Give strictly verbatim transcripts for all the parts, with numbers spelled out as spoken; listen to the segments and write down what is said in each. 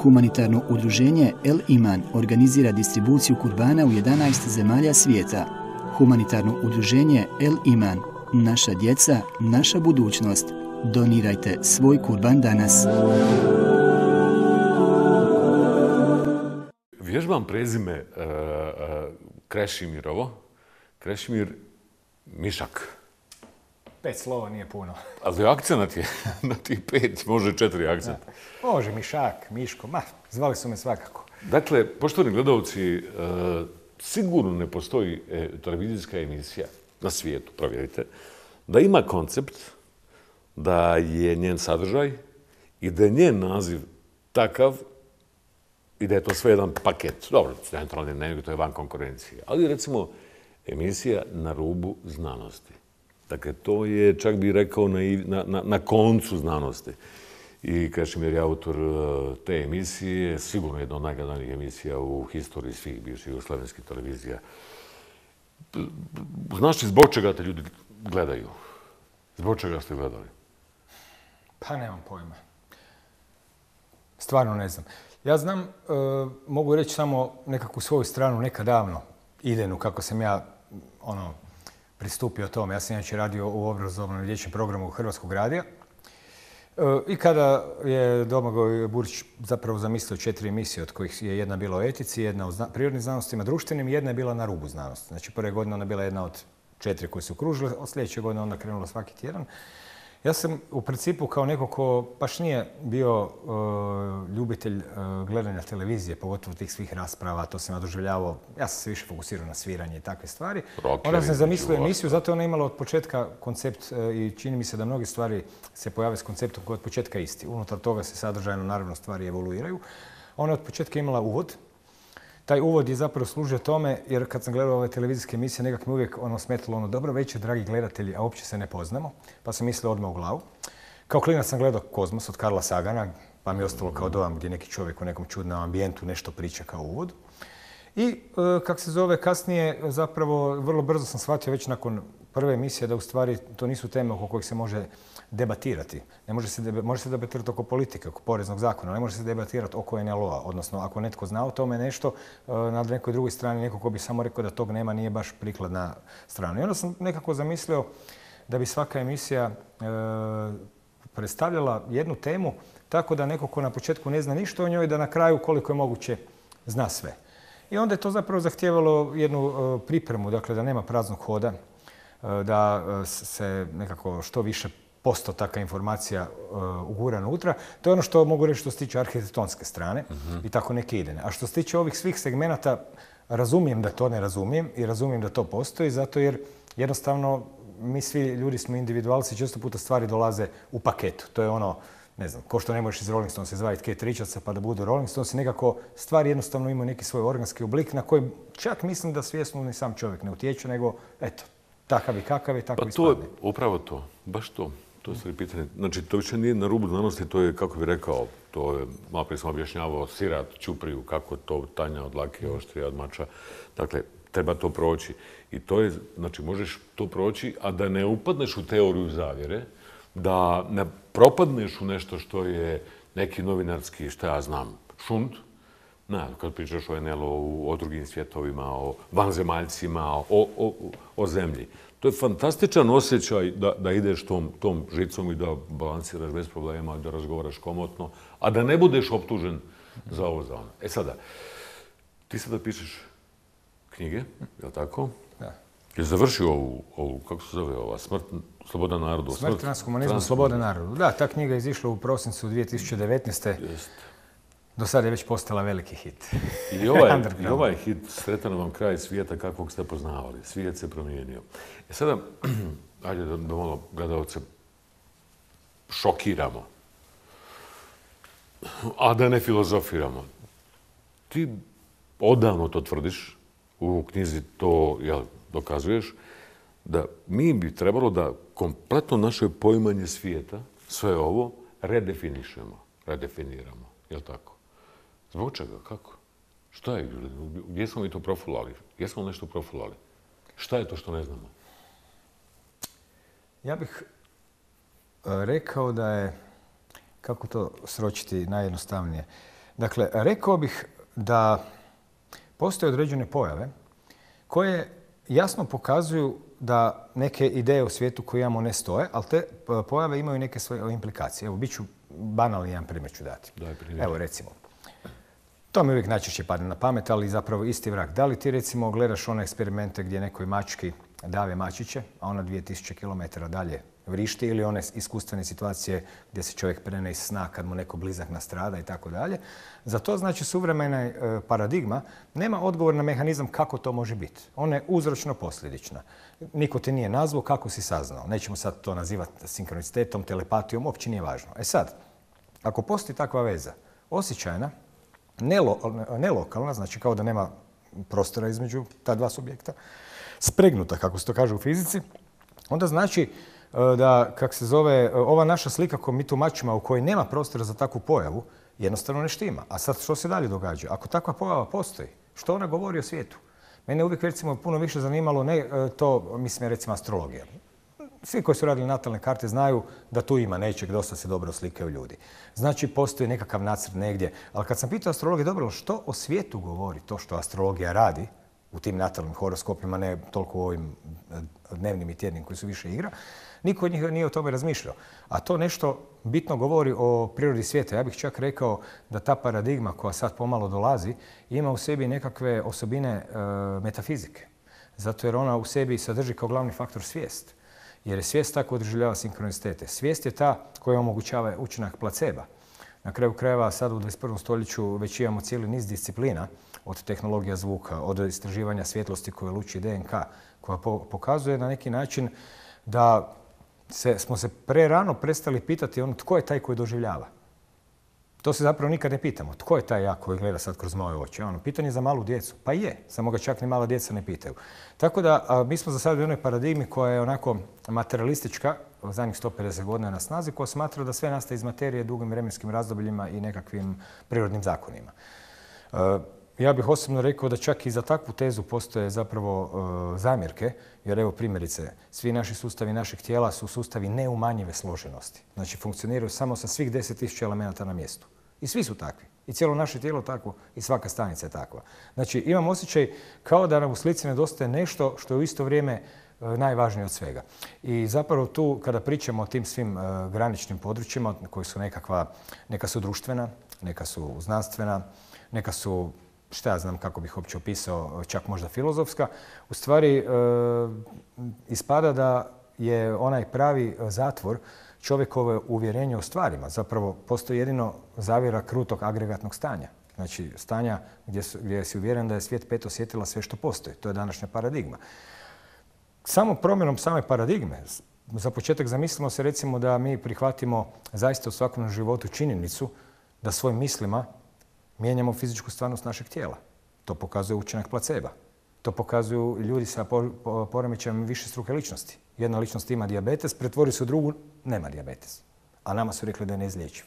Humanitarno udruženje El Iman organizira distribuciju kurbana u jedanaest zemalja svijeta. Humanitarno udruženje El Iman, naša djeca, naša budućnost. Donirajte svoj kurban danas. Vježbam prezime uh, uh, Krešimirovo. Krešimir Mišak. Pet slova nije puno. Ali akcenat je na tih pet, može četiri akcenta. Može, Mišak, Miško, ma, zvali su me svakako. Dakle, poštovani gledalci, uh, sigurno ne postoji e, televizijska emisija na svijetu, provjerite, da ima koncept, da je njen sadržaj i da je njen naziv takav i da je to sve jedan paket. Dobro, centralni dnevnik, to je van konkurencije. Ali recimo emisija Na rubu znanosti. Dakle, to je, čak bih rekao, na, na, na koncu znanosti. I Krešimir je autor te emisije, sigurno jedna od najgledanijih emisija u historiji svih bivših jugoslavenskih televizija. Znaš li zbog čega te ljudi gledaju? Zbog čega ste gledali? Pa nemam pojma. Stvarno ne znam. Ja znam, e, mogu reći samo nekakvu svoju stranu, nekad davno, idejnu, kako sam ja ono, pristupio tome. Ja sam inače radio u obrazovnom dječjem programu Hrvatskog radija. E, I kada je Domagoj Burić zapravo zamislio četiri emisije, od kojih je jedna bila o etici, jedna o zna prirodnim znanostima, društvenim, jedna je bila na rubu znanosti. Znači, prve godine ona bila jedna od četiri koje su okružile, od sljedeće godine onda krenula svaki tjedan. Ja sam u principu kao neko ko baš nije bio uh, ljubitelj uh, gledanja televizije, pogotovo tih svih rasprava, to sam ja doživljavao, ja sam se više fokusirao na sviranje i takve stvari. Onda sam zamislio emisiju, zato je ona imala od početka koncept uh, i čini mi se da mnoge stvari se pojave s konceptom koji je od početka isti. Unutar toga se sadržajno naravno stvari evoluiraju. Ona je od početka imala uvod. Taj uvod je zapravo služio tome, jer kad sam gledao ove televizijske emisije, nekak mi uvijek ono smetalo ono, dobro večer, dragi gledatelji, a uopće se ne poznamo, pa sam mislio odmah u glavu. Kao klinac sam gledao Kozmos od Karla Sagana, pa mi je ostalo kao dojam gdje neki čovjek u nekom čudnom ambijentu nešto priča kao uvod. I, e, kak se zove, kasnije zapravo vrlo brzo sam shvatio već nakon prve emisije da u stvari to nisu teme oko kojih se može debatirati. Ne može se, deba, može se debatirati oko politike, oko poreznog zakona, ne može se debatirati oko en el o a. Odnosno, ako netko zna o tome nešto, na nekoj drugoj strani neko ko bi samo rekao da tog nema nije baš prikladna strana. I onda sam nekako zamislio da bi svaka emisija e, predstavljala jednu temu tako da neko ko na početku ne zna ništa o njoj, da na kraju koliko je moguće zna sve. I onda je to zapravo zahtijevalo jednu e, pripremu, dakle da nema praznog hoda, e, da se nekako što više postotaka informacija uh, ugura unutra. To je ono što mogu reći što se tiče arhitektonske strane uh-huh. i tako neke idejne. A što se tiče ovih svih segmenata, razumijem da to ne razumijem i razumijem da to postoji, zato jer jednostavno mi svi ljudi smo individualci, često puta stvari dolaze u paketu. To je ono, ne znam, ko što ne možeš iz Rolling Stonesa izvaditi Kate Richardsa pa da budu Rolling Stonesi, nekako stvari jednostavno imaju neki svoj organski oblik na koji čak mislim da svjesno ni sam čovjek ne utječe, nego eto, takav i kakav je, tako pa ispadne. To je upravo to, baš to. To je pitanje. Znači, to više nije na rubu znanosti, to je, kako bih rekao, to je, malo prije sam objašnjavao, sirat, čupriju, kako to tanja od lake, oštrija od mača. Dakle, treba to proći. I to je, znači, možeš to proći, a da ne upadneš u teoriju zavjere, da ne propadneš u nešto što je neki novinarski, šta ja znam, šund, ne, kad pričaš o en el o, o drugim svjetovima, o vanzemaljcima, o, o, o zemlji. To je fantastičan osjećaj da, da ideš tom, tom žicom i da balansiraš bez problema, da razgovaraš komotno, a da ne budeš optužen za ovo, za ono. E sada, ti sada pišeš knjige, je li tako? Da. Je završio ovu, ovu, kako se zove ova, Smrt, Sloboda narodu? Smrt, Smrt transhumanizmu, Sloboda narodu. Da, ta knjiga je izišla u prosincu dvije tisuće devetnaeste. Jest. Do sada je već postala veliki hit. I ovaj, i ovaj hit sretan vam kraj svijeta kakvog ste poznavali. Svijet se promijenio. E sada, ajde da, da malo gledalce šokiramo. A da ne filozofiramo. Ti odavno to tvrdiš, u knjizi to jel, dokazuješ, da mi bi trebalo da kompletno naše poimanje svijeta, sve ovo, redefinišemo, redefiniramo. Je li tako? Zbog čega? Kako? Šta je? Gdje smo mi to profulali? Gdje smo nešto profulali? Šta je to što ne znamo? Ja bih rekao da je, kako to sročiti najjednostavnije, Dakle, rekao bih da postoje određene pojave koje jasno pokazuju da neke ideje u svijetu koje imamo ne stoje, ali te pojave imaju neke svoje implikacije. Evo, bit ću banalni, jedan primjer ću dati. Evo, recimo, to mi uvijek najčešće padne na pamet, ali zapravo isti vrag. Da li ti, recimo, gledaš one eksperimente gdje nekoj mački dave mačiće, a ona dvije tisuće kilometara dalje vrišti, ili one iskustvene situacije gdje se čovjek prene iz sna kad mu neko blizak nastrada i tako dalje. Za to, znači, suvremena paradigma nema odgovor na mehanizam kako to može biti. Ona je uzročno-posljedična. Niko te nije nazvao, kako si saznao. Nećemo sad to nazivati sinkronicitetom, telepatijom, uopće nije važno. E sad, ako postoji takva veza, osjećajna, nelokalna, znači kao da nema prostora između ta dva subjekta, spregnuta, kako se to kaže u fizici, onda znači da, kak se zove, ova naša slika koju mi tumačimo u kojoj nema prostora za takvu pojavu, jednostavno ne štima. A sad što se dalje događa? Ako takva pojava postoji, što ona govori o svijetu? Mene uvijek, recimo, puno više zanimalo ne to, mislim, recimo, astrologija. Svi koji su radili natalne karte znaju da tu ima nečeg, dosta se dobro slikaju ljudi. Znači, postoji nekakav nacrt negdje. Ali kad sam pitao astrologije, dobro, što o svijetu govori to što astrologija radi u tim natalnim horoskopima, ne toliko u ovim dnevnim i tjednim koji su više igra, niko od njih nije o tome razmišljao. A to nešto bitno govori o prirodi svijeta. Ja bih čak rekao da ta paradigma koja sad pomalo dolazi ima u sebi nekakve osobine e, metafizike. Zato jer ona u sebi sadrži kao glavni faktor svijest. Jer je svijest tako održavljava sinkronicitete. Svijest je ta koja omogućava učinak placeba. Na kraju krajeva sad u dvadeset prvom stoljeću već imamo cijeli niz disciplina, od tehnologija zvuka, od istraživanja svjetlosti koje luči D N K, koja pokazuje na neki način da se, smo se prerano prestali pitati ono tko je taj koji doživljava. To se zapravo nikad ne pitamo. Tko je taj ja koji gleda sad kroz moje oči? Ono, pitanje za malu djecu. Pa je, samo ga čak ni mala djeca ne pitaju. Tako da a, mi smo za sad u jednoj paradigmi koja je onako materialistička, u zadnjih sto pedeset godina na snazi, koja smatra da sve nastaje iz materije dugim vremenskim razdobljima i nekakvim prirodnim zakonima. E, ja bih osobno rekao da čak i za takvu tezu postoje zapravo e, zamjerke, jer evo primjerice, svi naši sustavi našeg tijela su sustavi neumanjive složenosti. Znači funkcioniraju samo sa svih deset tisuća elemenata na mjestu. I svi su takvi. I cijelo naše tijelo takvo i svaka stanica je takva. Znači imam osjećaj kao da nam u slici nedostaje nešto što je u isto vrijeme najvažnije od svega. I zapravo tu kada pričamo o tim svim uh, graničnim područjima koji su nekakva, neka su društvena, neka su znanstvena, neka su, šta ja znam kako bih uopće opisao, čak možda filozofska, u stvari uh, ispada da je onaj pravi zatvor čovjekovo uvjerenje o stvarima. Zapravo postoji jedino zavjera krutog agregatnog stanja. Znači stanja gdje, su, gdje si uvjeren da je svijet pet osjetila sve što postoji. To je današnja paradigma. Samo promjenom same paradigme, za početak zamislimo se recimo da mi prihvatimo zaista u svakom životu činjenicu da svojim mislima mijenjamo fizičku stvarnost našeg tijela. To pokazuje učinak placeba. To pokazuju ljudi sa poremećajem višestruke ličnosti. Jedna ličnost ima dijabetes, pretvori se u drugu, nema dijabetes. A nama su rekli da je neizlječiv.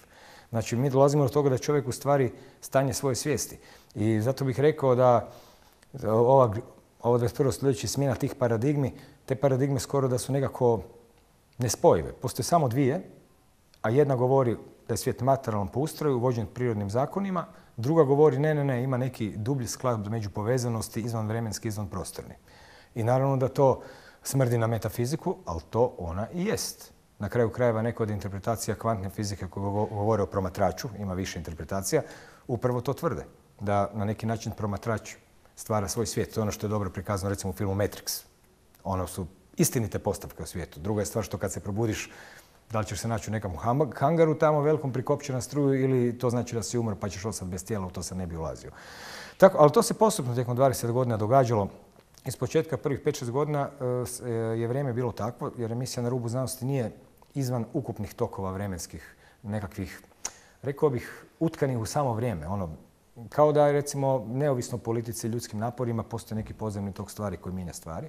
Znači, mi dolazimo do toga da čovjek u stvari stanje svoje svijesti. I zato bih rekao da ova, ovo dvadeset prvo stoljeće smjena tih paradigmi, te paradigme skoro da su nekako nespojive. Postoje samo dvije, a jedna govori da je svijet materijalan po ustroju, vođen prirodnim zakonima, druga govori ne, ne, ne, ima neki dublji sklad među povezanosti, izvanvremenski, izvanprostorni. I naravno da to smrdi na metafiziku, ali to ona i jest. Na kraju krajeva neka od interpretacija kvantne fizike koje govore o promatraču, ima više interpretacija, upravo to tvrde. Da na neki način promatrač stvara svoj svijet. To je ono što je dobro prikazano recimo u filmu Matrix. Ono su istinite postavke o svijetu. Druga je stvar što kad se probudiš, da li ćeš se naći u nekom hangaru tamo velikom prikopčen na struju ili to znači da si umro pa ćeš ostati bez tijela, u to sam ne bi ulazio. Tako, ali to se postupno tijekom dvadeset godina događalo. Iz početka prvih pet šest godina je vrijeme bilo takvo, jer emisija Na rubu znanosti nije izvan ukupnih tokova vremenskih, nekakvih, rekao bih, utkanih u samo vrijeme. Ono, kao da je, recimo, neovisno politici i ljudskim naporima, postoji neki podzemni tok stvari koji mijenja stvari.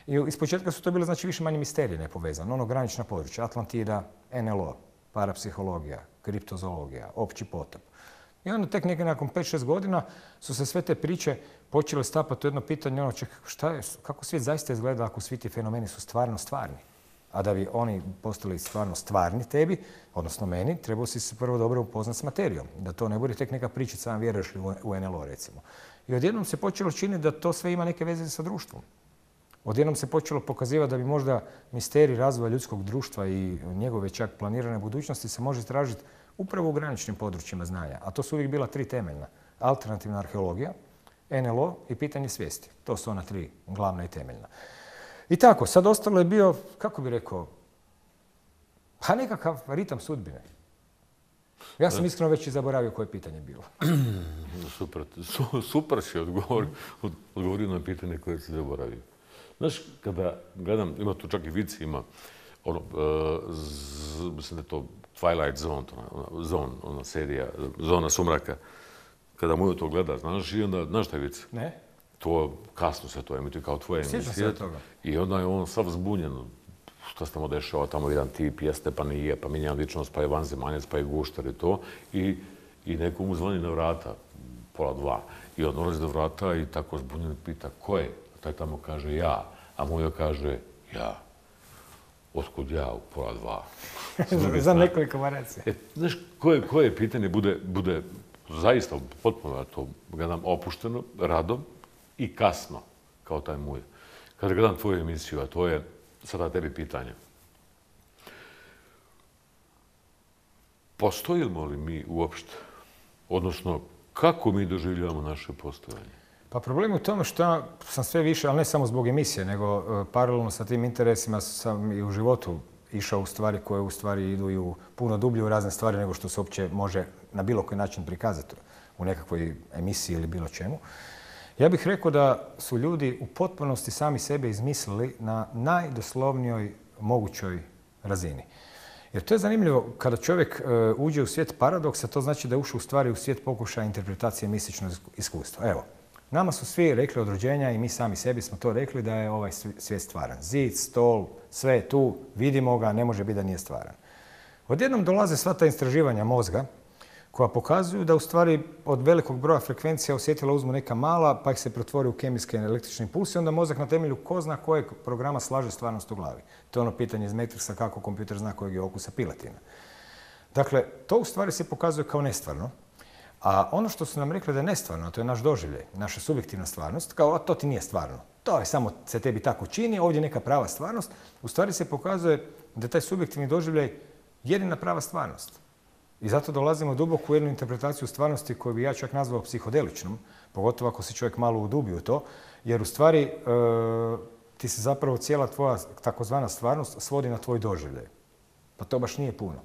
I iz početka su to bile, znači, više manje misterije nepovezane. Ono, granična područja, Atlantida, N L O, parapsihologija, kriptozoologija, opći potop. I onda tek nekaj nakon pet šest godina su se sve te priče počele stapati u jedno pitanje, ono, ček, šta je, kako svijet zaista izgleda ako svi ti fenomeni su stvarno stvarni? A da bi oni postali stvarno stvarni tebi, odnosno meni, trebao si se prvo dobro upoznat s materijom. Da to ne bude tek neka pričica, sam vjeruješ li u en el o recimo. I odjednom se počelo činiti da to sve ima neke veze sa društvom. Odjednom se počelo pokazivati da bi možda misterij razvoja ljudskog društva i njegove čak planirane budućnosti se može tražiti upravo u graničnim područjima znanja. A to su uvijek bila tri temeljna. Alternativna arheologija, en el o i pitanje svijesti. To su ona tri glavna i temeljna. I tako, sad ostalo je bio, kako bi rekao, pa nekakav ritam sudbine. Ja sam iskreno već i zaboravio koje pitanje je bilo. Super, super si odgovor, odgovorio na pitanje koje si zaboravio. Znaš, kada gledam, ima tu čak i vici, ima, ono, uh, z, mislim da je to Twilight Zone, ona, zone, ona serija, Zona sumraka. Kada mu to gleda, znaš, i onda, znaš taj vic? Ne. To kasno se to emituje kao tvoje emisije. Sjećam se od toga. I onda je on sav zbunjen. Šta se tamo dešava, tamo jedan tip jeste, pa nije, pa mijenja ličnost, pa je vanzemaljac, pa je guštar i to. I, i neko mu zvoni na vrata, pola dva. I on dolazi do vrata i tako zbunjen pita ko je? A taj tamo kaže ja. A mu joj kaže ja. Otkud ja u pola dva? Za nekoliko variacija. E, znaš, koje, koje pitanje bude, bude zaista potpuno, ja to gledam, opušteno, radom i kasno, kao taj muj. Kada gledam tvoju emisiju, a to je sada tebi pitanje. Postojimo li mi uopšte? Odnosno, kako mi doživljavamo naše postojanje? Pa problem je u tome što sam sve više, ali ne samo zbog emisije, nego uh, paralelno sa tim interesima sam i u životu išao u stvari koje u stvari idu i u puno dublje u razne stvari nego što se uopće može na bilo koji način prikazati u nekakvoj emisiji ili bilo čemu. Ja bih rekao da su ljudi u potpunosti sami sebe izmislili na najdoslovnijoj mogućoj razini. Jer to je zanimljivo, kada čovjek uh, uđe u svijet paradoksa, to znači da je ušao u stvari u svijet pokušaja interpretacije mističnog iskustva. Evo, nama su svi rekli od rođenja i mi sami sebi smo to rekli da je ovaj svijet stvaran. Zid, stol, sve je tu, vidimo ga, ne može biti da nije stvaran. Odjednom dolaze sva ta istraživanja mozga koja pokazuju da u stvari od velikog broja frekvencija osjetila uzmu neka mala pa ih se pretvori u kemijske električne impulse i onda mozak na temelju ko zna kojeg programa slaže stvarnost u glavi. To je ono pitanje iz Matrixa kako kompjuter zna kojeg je okusa piletina. Dakle, to u stvari se pokazuje kao nestvarno. A ono što su nam rekli da je nestvarno, a to je naš doživljaj, naša subjektivna stvarnost, kao a to ti nije stvarno. To je samo se tebi tako čini, ovdje je neka prava stvarnost. U stvari se pokazuje da je taj subjektivni doživljaj jedina prava stvarnost. I zato dolazimo duboko u jednu interpretaciju stvarnosti koju bi ja čak nazvao psihodeličnom, pogotovo ako se čovjek malo udubi u to, jer u stvari e, ti se zapravo cijela tvoja takozvana stvarnost svodi na tvoj doživljaj. Pa to baš nije puno.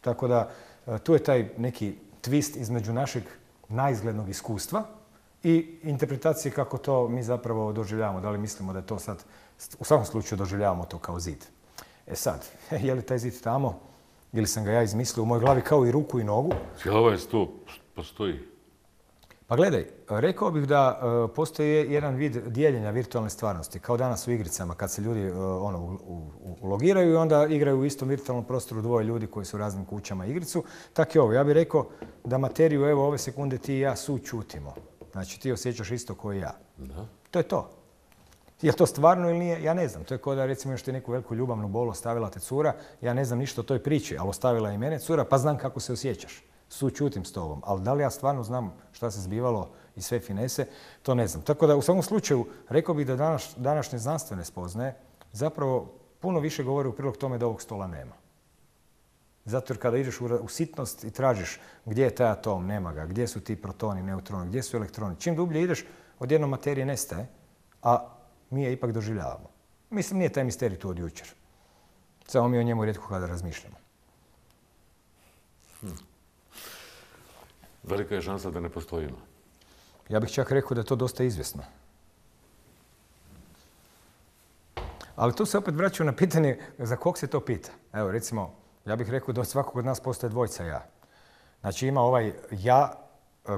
Tako da e, tu je taj neki twist između našeg naizglednog iskustva i interpretacije kako to mi zapravo doživljavamo. Da li mislimo da je to sad, u svakom slučaju doživljavamo to kao zid. E sad, je li taj zid tamo ili sam ga ja izmislio u mojoj glavi kao i ruku i nogu? Cijela ovaj sto postoji? Pa gledaj, rekao bih da uh, postoji jedan vid dijeljenja virtualne stvarnosti, kao danas u igricama, kad se ljudi uh, ono, u, u, ulogiraju i onda igraju u istom virtualnom prostoru dvoje ljudi koji su u raznim kućama igricu. Tako je ovo. Ja bih rekao da materiju, evo, ove sekunde ti i ja sućutimo. Znači, ti osjećaš isto kao i ja. Da. To je to. Je li to stvarno ili nije? Ja ne znam. To je kao da recimo još ti neku veliku ljubavnu bolu ostavila te cura. Ja ne znam ništa o toj priči, ali ostavila i mene cura, pa znam kako se osjećaš. Sućutim s tobom. Ali da li ja stvarno znam šta se zbivalo i sve finese, to ne znam. Tako da u svakom slučaju rekao bih da danas, današnje znanstvene spoznaje zapravo puno više govore u prilog tome da ovog stola nema. Zato jer kada ideš u, u sitnost i tražiš gdje je taj atom, nema ga, gdje su ti protoni, neutroni, gdje su elektroni. Čim dublje ideš, odjednom materije nestaje, a mi je ipak doživljavamo. Mislim, nije taj misterij tu od jučer. Samo mi o njemu rijetko kada razmišljamo. Hm. Velika je šansa da ne postojimo. Ja bih čak rekao da je to dosta izvjesno. Ali tu se opet vraćaju na pitanje za kog se to pita. Evo, recimo, ja bih rekao da od svakog od nas postoje dvojica ja. Znači, ima ovaj ja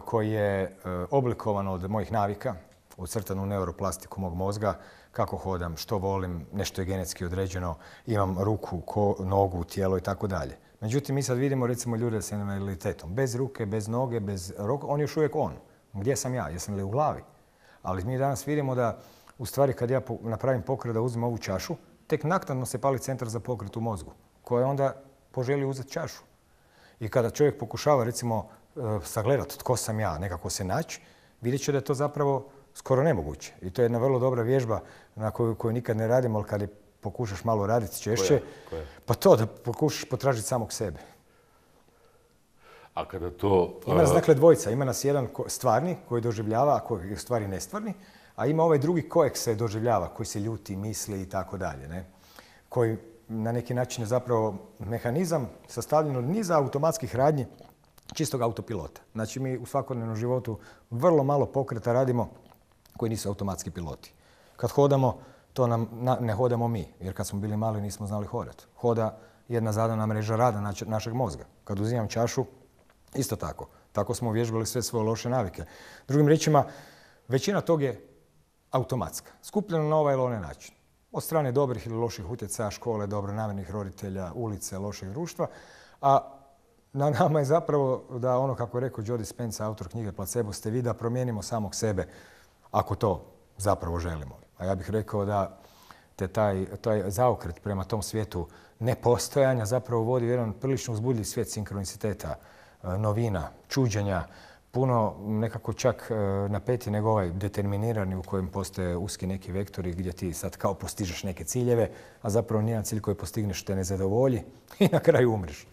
koji je oblikovan od mojih navika, ucrtan u neuroplastiku mog mozga, kako hodam, što volim, nešto je genetski određeno, imam ruku, ko, nogu, tijelo i tako dalje. Međutim, mi sad vidimo recimo ljude s invaliditetom. Bez ruke, bez noge, bez roka, on je još uvijek on. Gdje sam ja? Jesam li u glavi? Ali mi danas vidimo da u stvari kad ja napravim pokret da uzmem ovu čašu, tek naknadno se pali centar za pokret u mozgu, koji onda poželi uzeti čašu. I kada čovjek pokušava, recimo, sagledati tko sam ja, nekako se naći, vidjet će da je to zapravo skoro nemoguće. I to je jedna vrlo dobra vježba na koju, koju nikad ne radimo, ali kad je pokušaš malo raditi češće, Koja? Koja? pa to da pokušaš potražiti samog sebe. A kada to... Ima nas dakle dvojica. Ima nas jedan stvarni koji doživljava, a koji je u stvari nestvarni, a ima ovaj drugi kojeg se doživljava, koji se ljuti, misli i tako dalje. Koji na neki način je zapravo mehanizam sastavljen od niza automatskih radnji čistog autopilota. Znači mi u svakodnevnom životu vrlo malo pokreta radimo koji nisu automatski piloti. Kad hodamo, to nam ne hodamo mi, jer kad smo bili mali nismo znali hodati. Hoda jedna zadana mreža rada našeg mozga. Kad uzimam čašu, isto tako. Tako smo uvježbali sve svoje loše navike. Drugim riječima, većina tog je automatska. Skupljena na ovaj ili onaj način. Od strane dobrih ili loših utjecaja, škole, dobronamjernih roditelja, ulice, lošeg društva. A na nama je zapravo da ono, kako je rekao Joe Dispenza, autor knjige Placebo ste vi, da promijenimo samog sebe, ako to zapravo želimo. A ja bih rekao da te taj, taj zaokret prema tom svijetu nepostojanja zapravo vodi u jedan prilično uzbudljiv svijet sinkroniciteta, novina, čuđenja, puno nekako čak napeti nego ovaj determinirani u kojem postoje uski neki vektori gdje ti sad kao postižeš neke ciljeve, a zapravo nijedan cilj koji postigneš te ne zadovolji i na kraju umriš.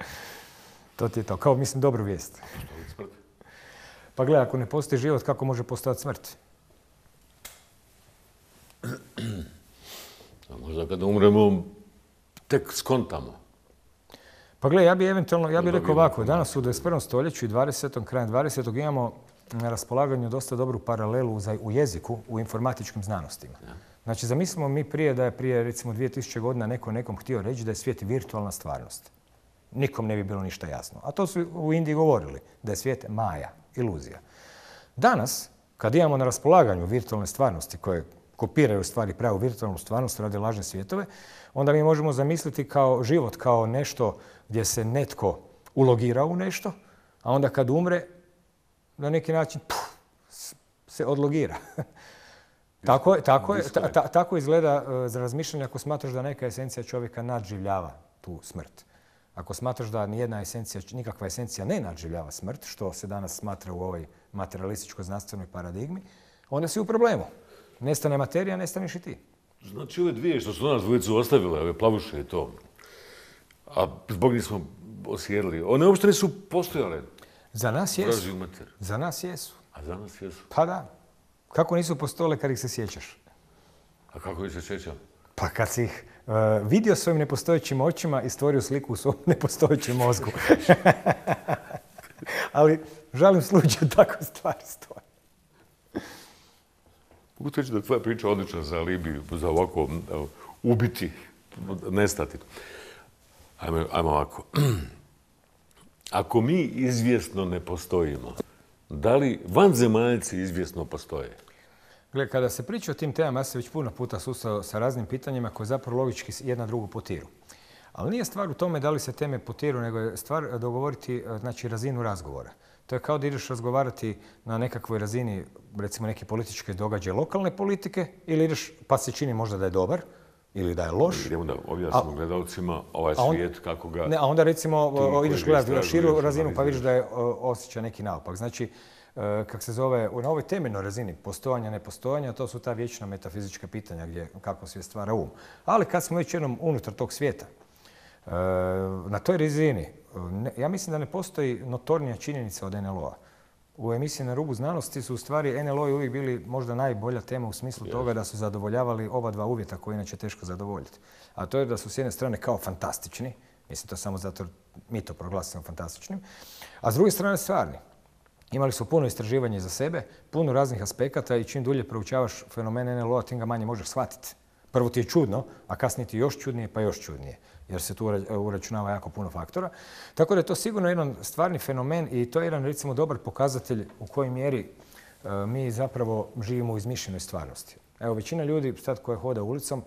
To ti je to. Kao, mislim, dobru vijest. Pa gledaj, ako ne postoji život, kako može postojati smrt? A možda kada umremo, tek skontamo. Pa gledaj, ja bih eventualno, ja bih rekao ovako, danas u dvadeset prvom stoljeću i dvadesetom, krajem dvadesetog imamo na raspolaganju dosta dobru paralelu u jeziku, u informatičkim znanostima. Znači, zamislimo mi prije da je prije, recimo, dvije tisuće godina neko nekom htio reći da je svijet virtualna stvarnost. Nikom ne bi bilo ništa jasno. A to su u Indiji govorili, da je svijet maja, iluzija. Danas, kad imamo na raspolaganju virtualne stvarnosti koje kopiraju stvari pravu virtualnu stvarnost, rade lažne svjetove, onda mi možemo zamisliti kao život kao nešto gdje se netko ulogira u nešto, a onda kad umre, na neki način puf, se odlogira. tako, tako, je, ta, ta, tako izgleda uh, za razmišljanje ako smatraš da neka esencija čovjeka nadživljava tu smrt. Ako smatraš da nijedna esencija, nikakva esencija ne nadživljava smrt, što se danas smatra u ovoj materialističko-znanstvenoj paradigmi, onda si u problemu. Nestane materija, nestaneš i ti. Znači ove dvije što su nas dvojicu ostavile, ove plavuše i to, a zbog njih smo osjedili, one uopšte nisu postojale. Za nas jesu. Za nas jesu. A za nas jesu? Pa da. Kako nisu postojale kad ih se sjećaš? A kako ih se sjećam? Pa kad si ih uh, vidio svojim nepostojećim očima i stvorio sliku u svom nepostojećem mozgu. Ali žalim slučaju tako stvari stoje. Mogu reći da je tvoja priča odlična za alibi, za ovako evo, ubiti, nestati. Ajmo, ajmo ovako. Ako mi izvjesno ne postojimo, da li vanzemaljci izvjesno postoje? Gle, kada se priča o tim temama, ja se već puno puta susreo sa raznim pitanjima koje zapravo logički jedna drugu potiru. Ali nije stvar u tome da li se teme potiru, nego je stvar dogovoriti znači, razinu razgovora. To je kao da ideš razgovarati na nekakvoj razini, recimo neke političke događaje lokalne politike, ili ideš pa se čini možda da je dobar, ili da je loš. Idemo da objasnimo gledalcima ovaj on, svijet, kako ga... Ne, a onda recimo ti, ideš gledati na širu razinu pa vidiš da je osjeća neki naopak. Znači, kako se zove, na ovoj temeljnoj razini postojanja, nepostojanja, to su ta vječna metafizička pitanja gdje kako svijet stvara um. Ali kad smo već jednom unutar tog svijeta, na toj razini, ja mislim da ne postoji notornija činjenica od en el o-a. U emisiji Na rubu znanosti su u stvari en el o-i uvijek bili možda najbolja tema u smislu yes. toga da su zadovoljavali oba dva uvjeta koje inače teško zadovoljiti. A to je da su s jedne strane kao fantastični, mislim to samo zato mi to proglasimo fantastičnim, a s druge strane stvarni. Imali su puno istraživanja za sebe, puno raznih aspekata i čim dulje proučavaš fenomen en el o-a, tim ga manje možeš shvatiti. Prvo ti je čudno, a kasnije ti još čudnije pa još čudnije, jer se tu uračunava jako puno faktora. Tako da je to sigurno jedan stvarni fenomen i to je jedan recimo dobar pokazatelj u kojoj mjeri uh, mi zapravo živimo u izmišljenoj stvarnosti. Evo, većina ljudi sad koja hoda ulicom,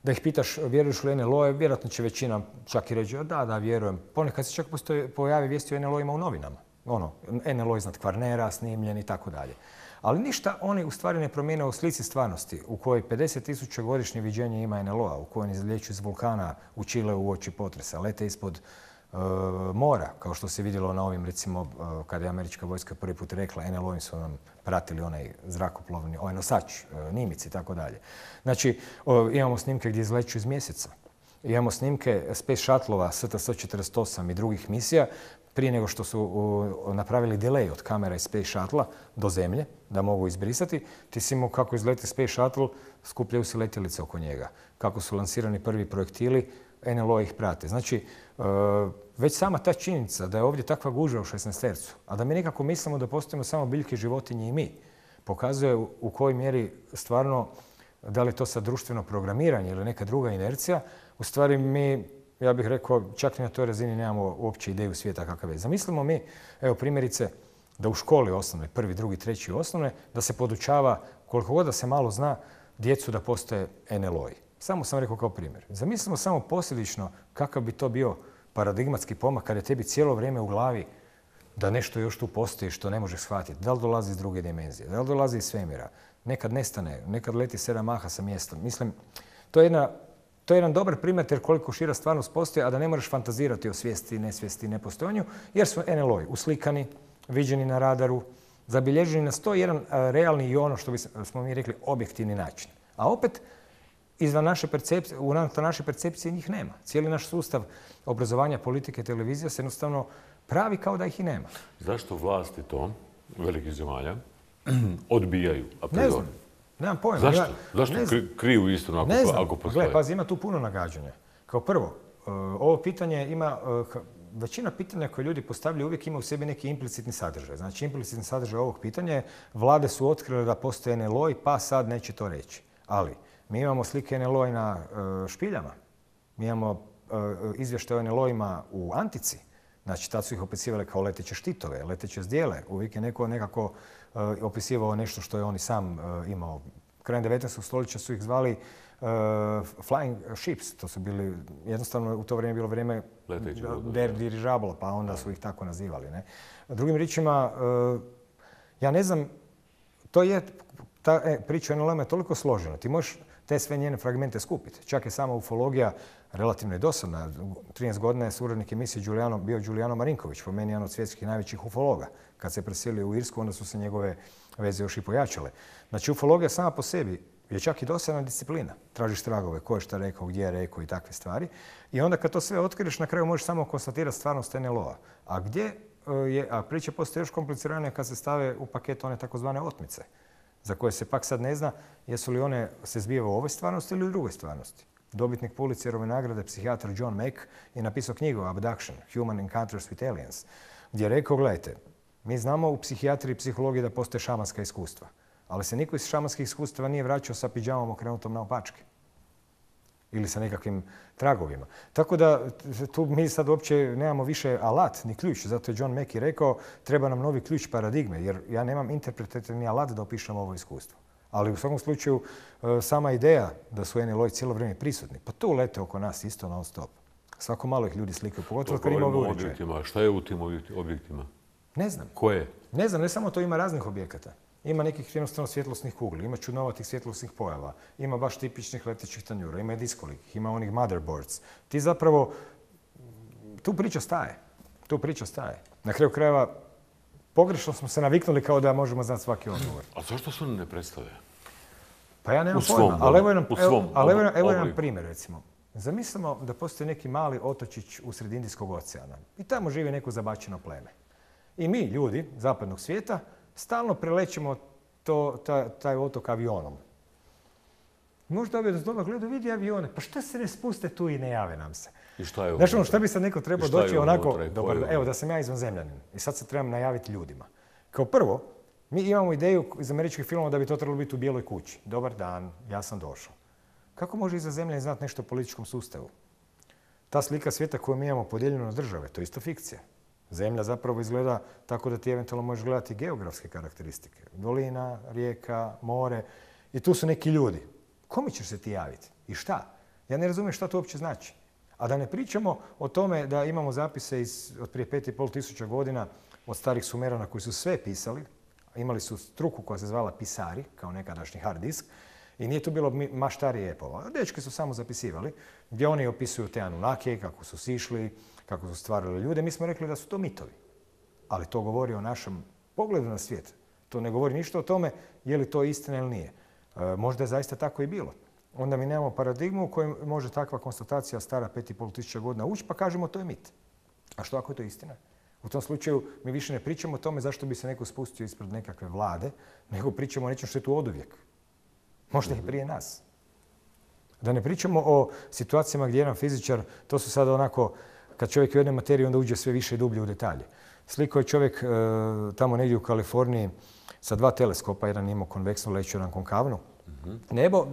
da ih pitaš vjeruješ li en el o-e, vjerojatno će većina čak i reći da, da, vjerujem. Ponekad se čak postoji, pojavi vijesti o en el o-ima u novinama. ono, N L O iznad Kvarnera snimljen i tako dalje. Ali ništa oni u stvari ne promijene u slici stvarnosti u kojoj pedeset tisuća godišnje viđenje ima N L O-a, u kojoj oni izlijeću iz vulkana u Čileu u oči potresa, lete ispod uh, mora, kao što se vidjelo na ovim, recimo, uh, kada je američka vojska prvi put rekla, N L O-im su nam pratili onaj zrakoplovni, ovaj nosač, uh, Nimic i tako dalje. Znači, uh, imamo snimke gdje izleću iz mjeseca. Imamo snimke Space Shuttle-ova S T S četrdeset osam i drugih misija prije nego što su uh, napravili delay od kamera iz Space Shuttle-a do zemlje, da mogu izbrisati. Ti si imao kako izleti Space Shuttle, skupljaju se letjelice oko njega. Kako su lansirani prvi projektili, N L O ih prate. Znači, uh, već sama ta činjenica da je ovdje takva gužva u šesnaestercu, a da mi nekako mislimo da postojimo samo biljke, životinje i mi, pokazuje u, u kojoj mjeri stvarno, da li je to sad društveno programiranje ili neka druga inercija, u stvari mi, ja bih rekao, čak i na toj razini nemamo uopće ideju svijeta kakav je. Zamislimo mi, evo primjerice, da u školi osnovne, prvi, drugi, treći osnovne, da se podučava, koliko god da se malo zna, djecu da postoje N L O-i. Samo sam rekao kao primjer. Zamislimo samo posljedično kakav bi to bio paradigmatski pomak kada je tebi cijelo vrijeme u glavi da nešto još tu postoji što ne možeš shvatiti. Da li dolazi iz druge dimenzije, da li dolazi iz svemira, nekad nestane, nekad leti sedam maha sa mjesta. Mislim, to je jedna To je jedan dobar primjer jer koliko šira stvarnost postoji, a da ne moraš fantazirati o svijesti, nesvijesti, nepostojanju, jer su N L O-i uslikani, viđeni na radaru, zabilježeni na sto jedan realni i ono što smo mi rekli objektivni način. A opet, izvan naše percepcije, u naše percepcije njih nema. Cijeli naš sustav obrazovanja, politike, televizije se jednostavno pravi kao da ih i nema. Zašto vlasti to, velikih zemalja, odbijaju? Ne znam. Nemam pojma. Zašto? Zašto kriju istinu ako, ako postoje? Gle, pazi, ima tu puno nagađanja. Kao prvo, ovo pitanje ima, većina pitanja koje ljudi postavljaju uvijek ima u sebi neki implicitni sadržaj. Znači, implicitni sadržaj ovog pitanja je vlade su otkrile da postoje N L O-i, pa sad neće to reći. Ali, mi imamo slike N L O-i na špiljama. Mi imamo izvještaje o N L O-ima u Antici. Znači, tad su ih opisivali kao leteće štitove, leteće zdjele. Uvijek je neko nekako uh, opisivao nešto što je on i sam uh, imao. Krajem devetnaestog stoljeća su ih zvali uh, flying ships. To su bili, jednostavno u to vrijeme bilo vrijeme der dirižablo, pa onda su ih tako nazivali. Ne? Drugim riječima, uh, ja ne znam, to je, ta e, priča o N L O-ima je toliko složena. Ti možeš te sve njene fragmente skupiti. Čak je sama ufologija relativno je dosadna. trinaest godina je suradnik emisije Giuliano, bio Giuliano Marinković, po meni jedan od svjetskih najvećih ufologa. Kad se preselio u Irsku, onda su se njegove veze još i pojačale. Znači, ufologija sama po sebi je čak i dosadna disciplina. Tražiš tragove, ko je šta rekao, gdje je rekao i takve stvari. I onda kad to sve otkriješ, na kraju možeš samo konstatirati stvarnost N L O-a. A gdje je, a priča postoje još kompliciranija kad se stave u paket one takozvane otmice, za koje se pak sad ne zna jesu li one se zbijeva u ovoj stvarnosti ili u drugoj stvarnosti. Dobitnik Pulitzerove nagrade, psihijatar John Mack, je napisao knjigu Abduction, Human Encounters with Aliens, gdje je rekao, gledajte, mi znamo u psihijatriji i psihologiji da postoje šamanska iskustva, ali se niko iz šamanskih iskustava nije vraćao sa pidžamom okrenutom naopačke ili sa nekakvim tragovima. Tako da tu mi sad uopće nemamo više alat ni ključ. Zato je John Mack i rekao treba nam novi ključ paradigme, jer ja nemam interpretativni alat da opišem ovo iskustvo. Ali u svakom slučaju sama ideja da su N L O-i cijelo vrijeme prisutni, pa tu lete oko nas isto non stop. Svako malo ih ljudi slikaju, pogotovo kad ima ove uređaje. Šta je u tim objektima? Ne znam. Koje? Ne znam, ne samo to, ima raznih objekata. Ima nekih jednostavno svjetlosnih kugli, ima čudnovatih svjetlosnih pojava, ima baš tipičnih letećih tanjura, ima i diskolikih, ima onih motherboards. Ti zapravo, tu priča staje. Tu priča staje. Na kraju krajeva, pogrešno smo se naviknuli kao da možemo znati svaki odgovor. A zašto se oni ne predstave? Pa ja nemam pojma, ali evo nam, evo, ali evo, evo nam primjer, recimo. Zamislimo da postoji neki mali otočić usred Indijskog oceana i tamo živi neko zabačeno pleme. I mi, ljudi zapadnog svijeta, stalno prelećemo to, ta, taj otok avionom. Možda ovdje da dobro gleda, vidi avione, pa šta se ne spuste tu i ne jave nam se? I šta je Znaš, ono, šta bi sad neko trebao doći onako, dobar, evo da sam ja izvanzemljanin i sad se trebam najaviti ljudima. Kao prvo, mi imamo ideju iz američkih filmova da bi to trebalo biti u Bijeloj kući. Dobar dan, ja sam došao. Kako može izvanzemljanin znati nešto o političkom sustavu? Ta slika svijeta koju mi imamo podijeljenu na države, to je isto fikcija. Zemlja zapravo izgleda tako da ti eventualno možeš gledati geografske karakteristike. Dolina, rijeka, more. I tu su neki ljudi. Kome ćeš se ti javiti? I šta? Ja ne razumijem šta to uopće znači. A da ne pričamo o tome da imamo zapise iz, od prije pet i pol tisuća godina od starih Sumerana koji su sve pisali. Imali su struku koja se zvala pisari, kao nekadašnji hard disk. I nije tu bilo maštari epova. Dečki su samo zapisivali, gdje oni opisuju te Anunnake, kako su sišli, kako su stvarali ljude. Mi smo rekli da su to mitovi. Ali to govori o našem pogledu na svijet. To ne govori ništa o tome je li to istina ili nije. E, možda je zaista tako i bilo. Onda mi nemamo paradigmu u kojoj može takva konstatacija stara pet i pol tisuća godina ući, pa kažemo to je mit. A što ako je to istina? U tom slučaju mi više ne pričamo o tome zašto bi se neko spustio ispred nekakve vlade, nego pričamo o nečem što je tu oduvijek. Možda i prije nas. Da ne pričamo o situacijama gdje jedan fizičar, to su sada onako, kad čovjek u jednoj materiji, onda uđe sve više i dublje u detalje. Sliko je čovjek e, tamo negdje u Kaliforniji sa dva teleskopa, jedan imao konveksnu leću, jedan konkavnu. Mm-hmm. Nebo,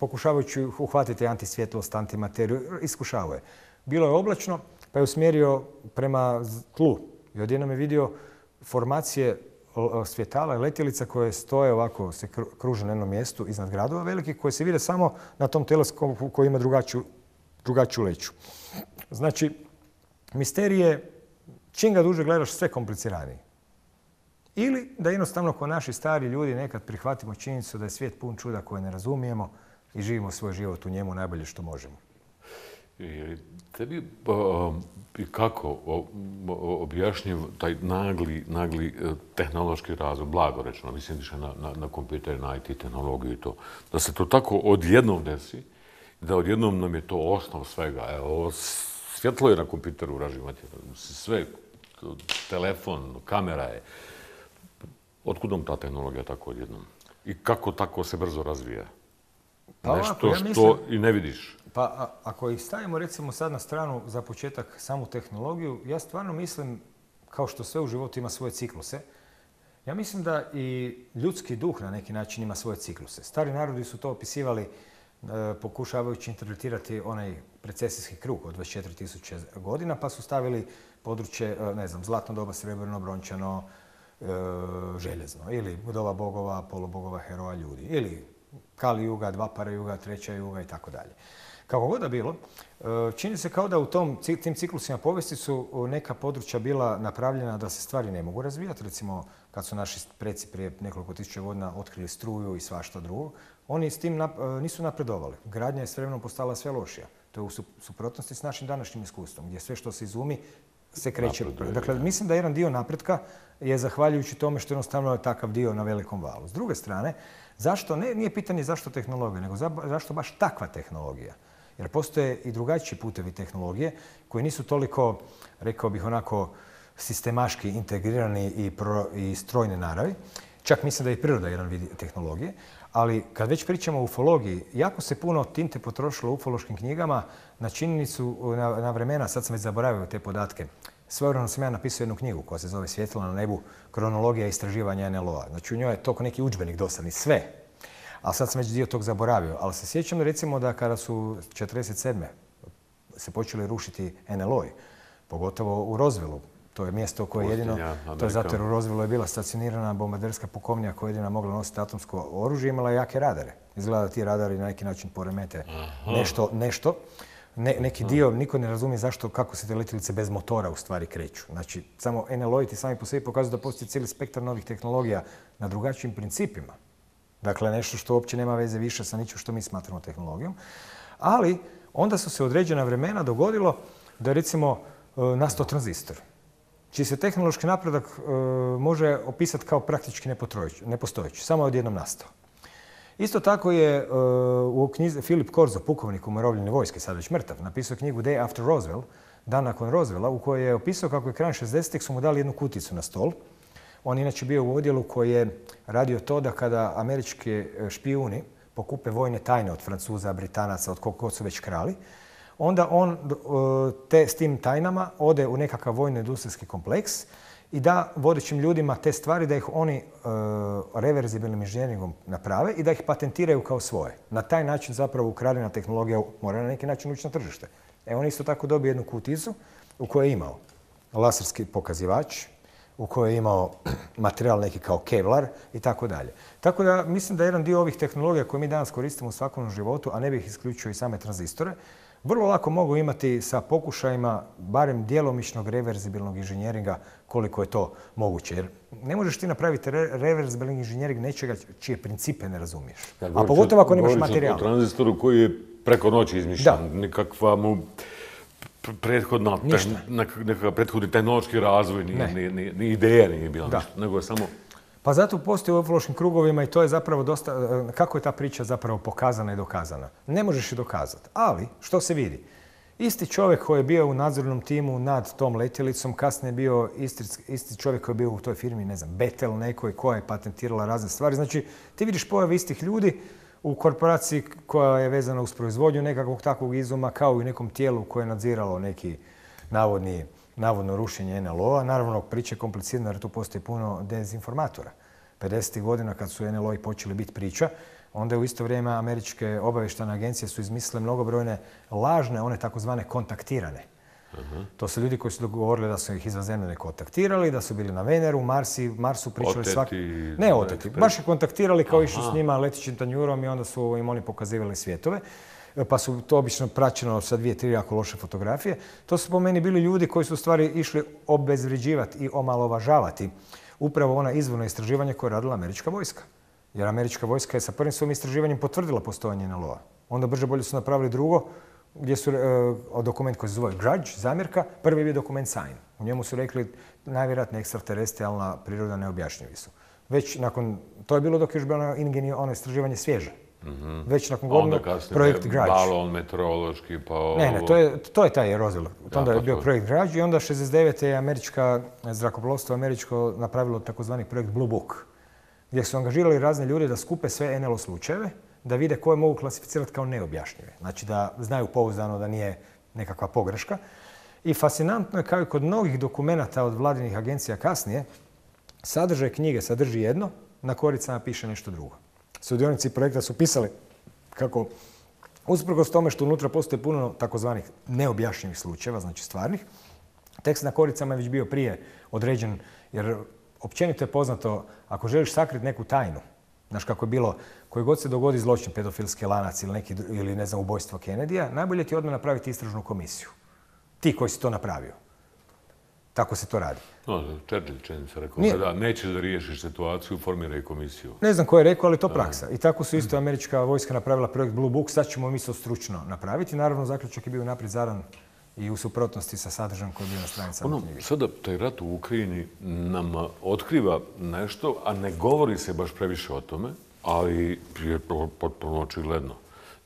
pokušavajući uhvatiti antisvjetlost, antimateriju, iskušavao je. Bilo je oblačno, pa je usmjerio prema tlu. I odjednom je vidio formacije svjetala i letjelica koje stoje ovako, se kruže na jednom mjestu iznad gradova velikih, koje se vide samo na tom teleskopu koji ima drugačiju, drugačiju leću. Znači, misterij je, čim ga duže gledaš, sve kompliciraniji. Ili da jednostavno ko naši stari ljudi nekad prihvatimo činjenicu da je svijet pun čuda koje ne razumijemo i živimo svoj život u njemu najbolje što možemo. I tebi i kako objašnjiv taj nagli, nagli tehnološki razvoj, blago rečeno, mislim više na, na, na kompjuter, na I T tehnologiju i to, da se to tako odjednom desi, da odjednom nam je to osnov svega. Evo, svjetlo je na kompjuteru uraživati, sve, telefon, kamera je. Otkud nam ta tehnologija tako odjednom? I kako tako se brzo razvija? Pa Nešto ovako, ja što mislim, i ne vidiš. Pa a, ako ih stavimo recimo sad na stranu za početak samu tehnologiju, ja stvarno mislim, kao što sve u životu ima svoje cikluse, ja mislim da i ljudski duh na neki način ima svoje cikluse. Stari narodi su to opisivali e, pokušavajući interpretirati onaj precesijski krug od dvadeset četiri tisuće godina, pa su stavili područje, ne znam, zlatno doba, srebrno, brončano, e, željezno, ili doba bogova, polubogova, heroja, ljudi, ili Kali juga, dva para juga, treća juga i tako dalje. Kako god da bilo, čini se kao da u tom, tim ciklusima povijesti su neka područja bila napravljena da se stvari ne mogu razvijati. Recimo, kad su naši preci prije nekoliko tisuća godina otkrili struju i svašta drugo, oni s tim nap, nisu napredovali. Gradnja je s vremenom postala sve lošija. To je u suprotnosti s našim današnjim iskustvom, gdje sve što se izumi se kreće. Napreduje, dakle, ja. Mislim da jedan dio napretka je zahvaljujući tome što jednostavno je takav dio na velikom valu. S druge strane, zašto, ne, nije pitanje zašto tehnologija, nego za, zašto baš takva tehnologija. Jer postoje i drugačiji putevi tehnologije koji nisu toliko, rekao bih, onako sistemaški integrirani i, pro, i strojne naravi. Čak mislim da je i priroda jedan vid tehnologije. Ali kad već pričamo o ufologiji, jako se puno tinte potrošilo u ufološkim knjigama na činjenicu, na, na vremena, sad sam već zaboravio te podatke. Svojevremeno sam ja napisao jednu knjigu koja se zove Svjetlo na nebu, kronologija istraživanja N L O A. Znači u njoj je toliko neki udžbenik dosadni, sve. Ali sad sam već dio tog zaboravio. Ali se sjećam recimo da kada su četrdeset sedme se počeli rušiti N L O-i, pogotovo u Roswellu, to je mjesto koje je jedino, to je zato jer u Roswellu je bila stacionirana bombarderska pukovnija koja je jedina mogla nositi atomsko oružje, imala jake radare. Izgleda da ti radari na neki način poremete nešto, nešto. Ne, neki dio, niko ne razumije zašto, kako se te letjelice bez motora u stvari kreću. Znači, samo N L O-i ti sami po sebi pokazuju da postoji cijeli spektar novih tehnologija na drugačijim principima. Dakle, nešto što uopće nema veze više sa ničim što mi smatramo tehnologijom. Ali onda su se određena vremena dogodilo da recimo nastao tranzistor, čiji se tehnološki napredak e, može opisati kao praktički nepostojeći, samo je odjednom nastao. Isto tako je e, u knjizi Philip Corso, pukovnik umirovljene vojske, sad već mrtav, napisao knjigu Day After Roswell, dan nakon Roswella, u kojoj je opisao kako je krajem šezdesetih su mu dali jednu kuticu na stol. On inače bio u odjelu koji je radio to da kada američki špijuni pokupe vojne tajne od Francuza, Britanaca, od koliko su već krali, onda on te, s tim tajnama ode u nekakav vojno-industrijski kompleks i da vodećim ljudima te stvari da ih oni e, reverzibilnim inženjeringom naprave i da ih patentiraju kao svoje. Na taj način zapravo ukradena tehnologija mora na neki način ući na tržište. E, on isto tako dobio jednu kuticu u kojoj je imao laserski pokazivač, u kojoj je imao materijal neki kao kevlar i tako dalje. Tako da mislim da jedan dio ovih tehnologija koje mi danas koristimo u svakodnevnom životu, a ne bih isključio i same tranzistore, vrlo lako mogu imati sa pokušajima barem djelomičnog reverzibilnog inženjeringa koliko je to moguće. Jer ne možeš ti napraviti re reverzibilni inženjering nečega čije principe ne razumiješ. Ja, a pogotovo ako nemaš materijal. O tranzistoru koji je preko noći izmišljan, nikakva mu prethodna, nekakav prethodni tehnološki razvoj, ni, ni, ni, ni ideja nije bila ništa, nego je samo... Pa zato postoji u ufološkim krugovima i to je zapravo dosta, kako je ta priča zapravo pokazana i dokazana. Ne možeš je dokazati, ali što se vidi? Isti čovjek koji je bio u nadzornom timu nad tom letjelicom, kasnije je bio isti, isti čovjek koji je bio u toj firmi, ne znam, Betel nekoj koja je patentirala razne stvari. Znači, ti vidiš pojave istih ljudi u korporaciji koja je vezana uz proizvodnju nekakvog takvog izuma, kao i u nekom tijelu koje je nadziralo neki navodni, navodno rušenje en el o-a. Naravno, priča je komplicirana jer tu postoji puno dezinformatora. pedesetih godina kad su en el o-i počeli biti priča, onda je u isto vrijeme američke obavještajne agencije su izmislile mnogobrojne lažne, one takozvane kontaktirane. Uh-huh. To su ljudi koji su dogovorili da su ih izvanzemljane kontaktirali, da su bili na Veneru, Marsi, Marsu pričali svaki... Ne oteti, baš ih kontaktirali kao išli s njima letićim tanjurom i onda su im oni pokazivali svjetove. Pa su to obično praćeno sa dvije, tri jako loše fotografije. To su po meni bili ljudi koji su u stvari išli obezvrijeđivati i omalovažavati upravo ona izvorno istraživanje koje je radila američka vojska. Jer američka vojska je sa prvim svojim istraživanjem potvrdila postojanje en el o-a. Onda brže bolje su napravili drugo, gdje su uh, dokument koji se zove Grudge, zamjerka, prvi je bio dokument Sign. U njemu su rekli najvjerojatnije ekstraterestrijalna priroda neobjašnjivi su. Već nakon, to je bilo dok je još bilo ono, ono istraživanje svježe. Mm-hmm. Već nakon godinu projekt Grudge. Balon meteorološki, pa ovo... Ne, ne, to je, to je taj Roswell. Onda ja, je bio to. projekt Grudge i onda šezdeset devete je američka zrakoplovstvo američko napravilo takozvani projekt Blue Book, gdje su angažirali razne ljude da skupe sve en el o slučajeve, da vide koje mogu klasificirati kao neobjašnjive. Znači da znaju pouzdano da nije nekakva pogreška. I fascinantno je kao i kod mnogih dokumenata od vladinih agencija kasnije, sadržaj knjige sadrži jedno, na koricama piše nešto drugo. Sudionici projekta su pisali kako, usprkos tome što unutra postoji puno takozvanih neobjašnjivih slučajeva, znači stvarnih, tekst na koricama je već bio prije određen, jer općenito je poznato, ako želiš sakriti neku tajnu, znaš kako je bilo, koji god se dogodi zločin, pedofilski lanac ili, neki, ili ne znam, ubojstvo Kennedyja, najbolje ti je odmah napraviti istražnu komisiju. Ti koji si to napravio. Tako se to radi. No, Churchill čini se rekao, Nije. da nećeš da riješiš situaciju, formiraj komisiju. Ne znam ko je rekao, ali to praksa. I tako su isto američka vojska napravila projekt Blue Book, sad ćemo mi to stručno napraviti. Naravno, zaključak je bio naprijed zadan i u suprotnosti sa sadržajem koji je bio na stranicama ono, knjige. Sada taj rat u Ukrajini nam otkriva nešto, a ne govori se baš previše o tome, ali je potpuno očigledno.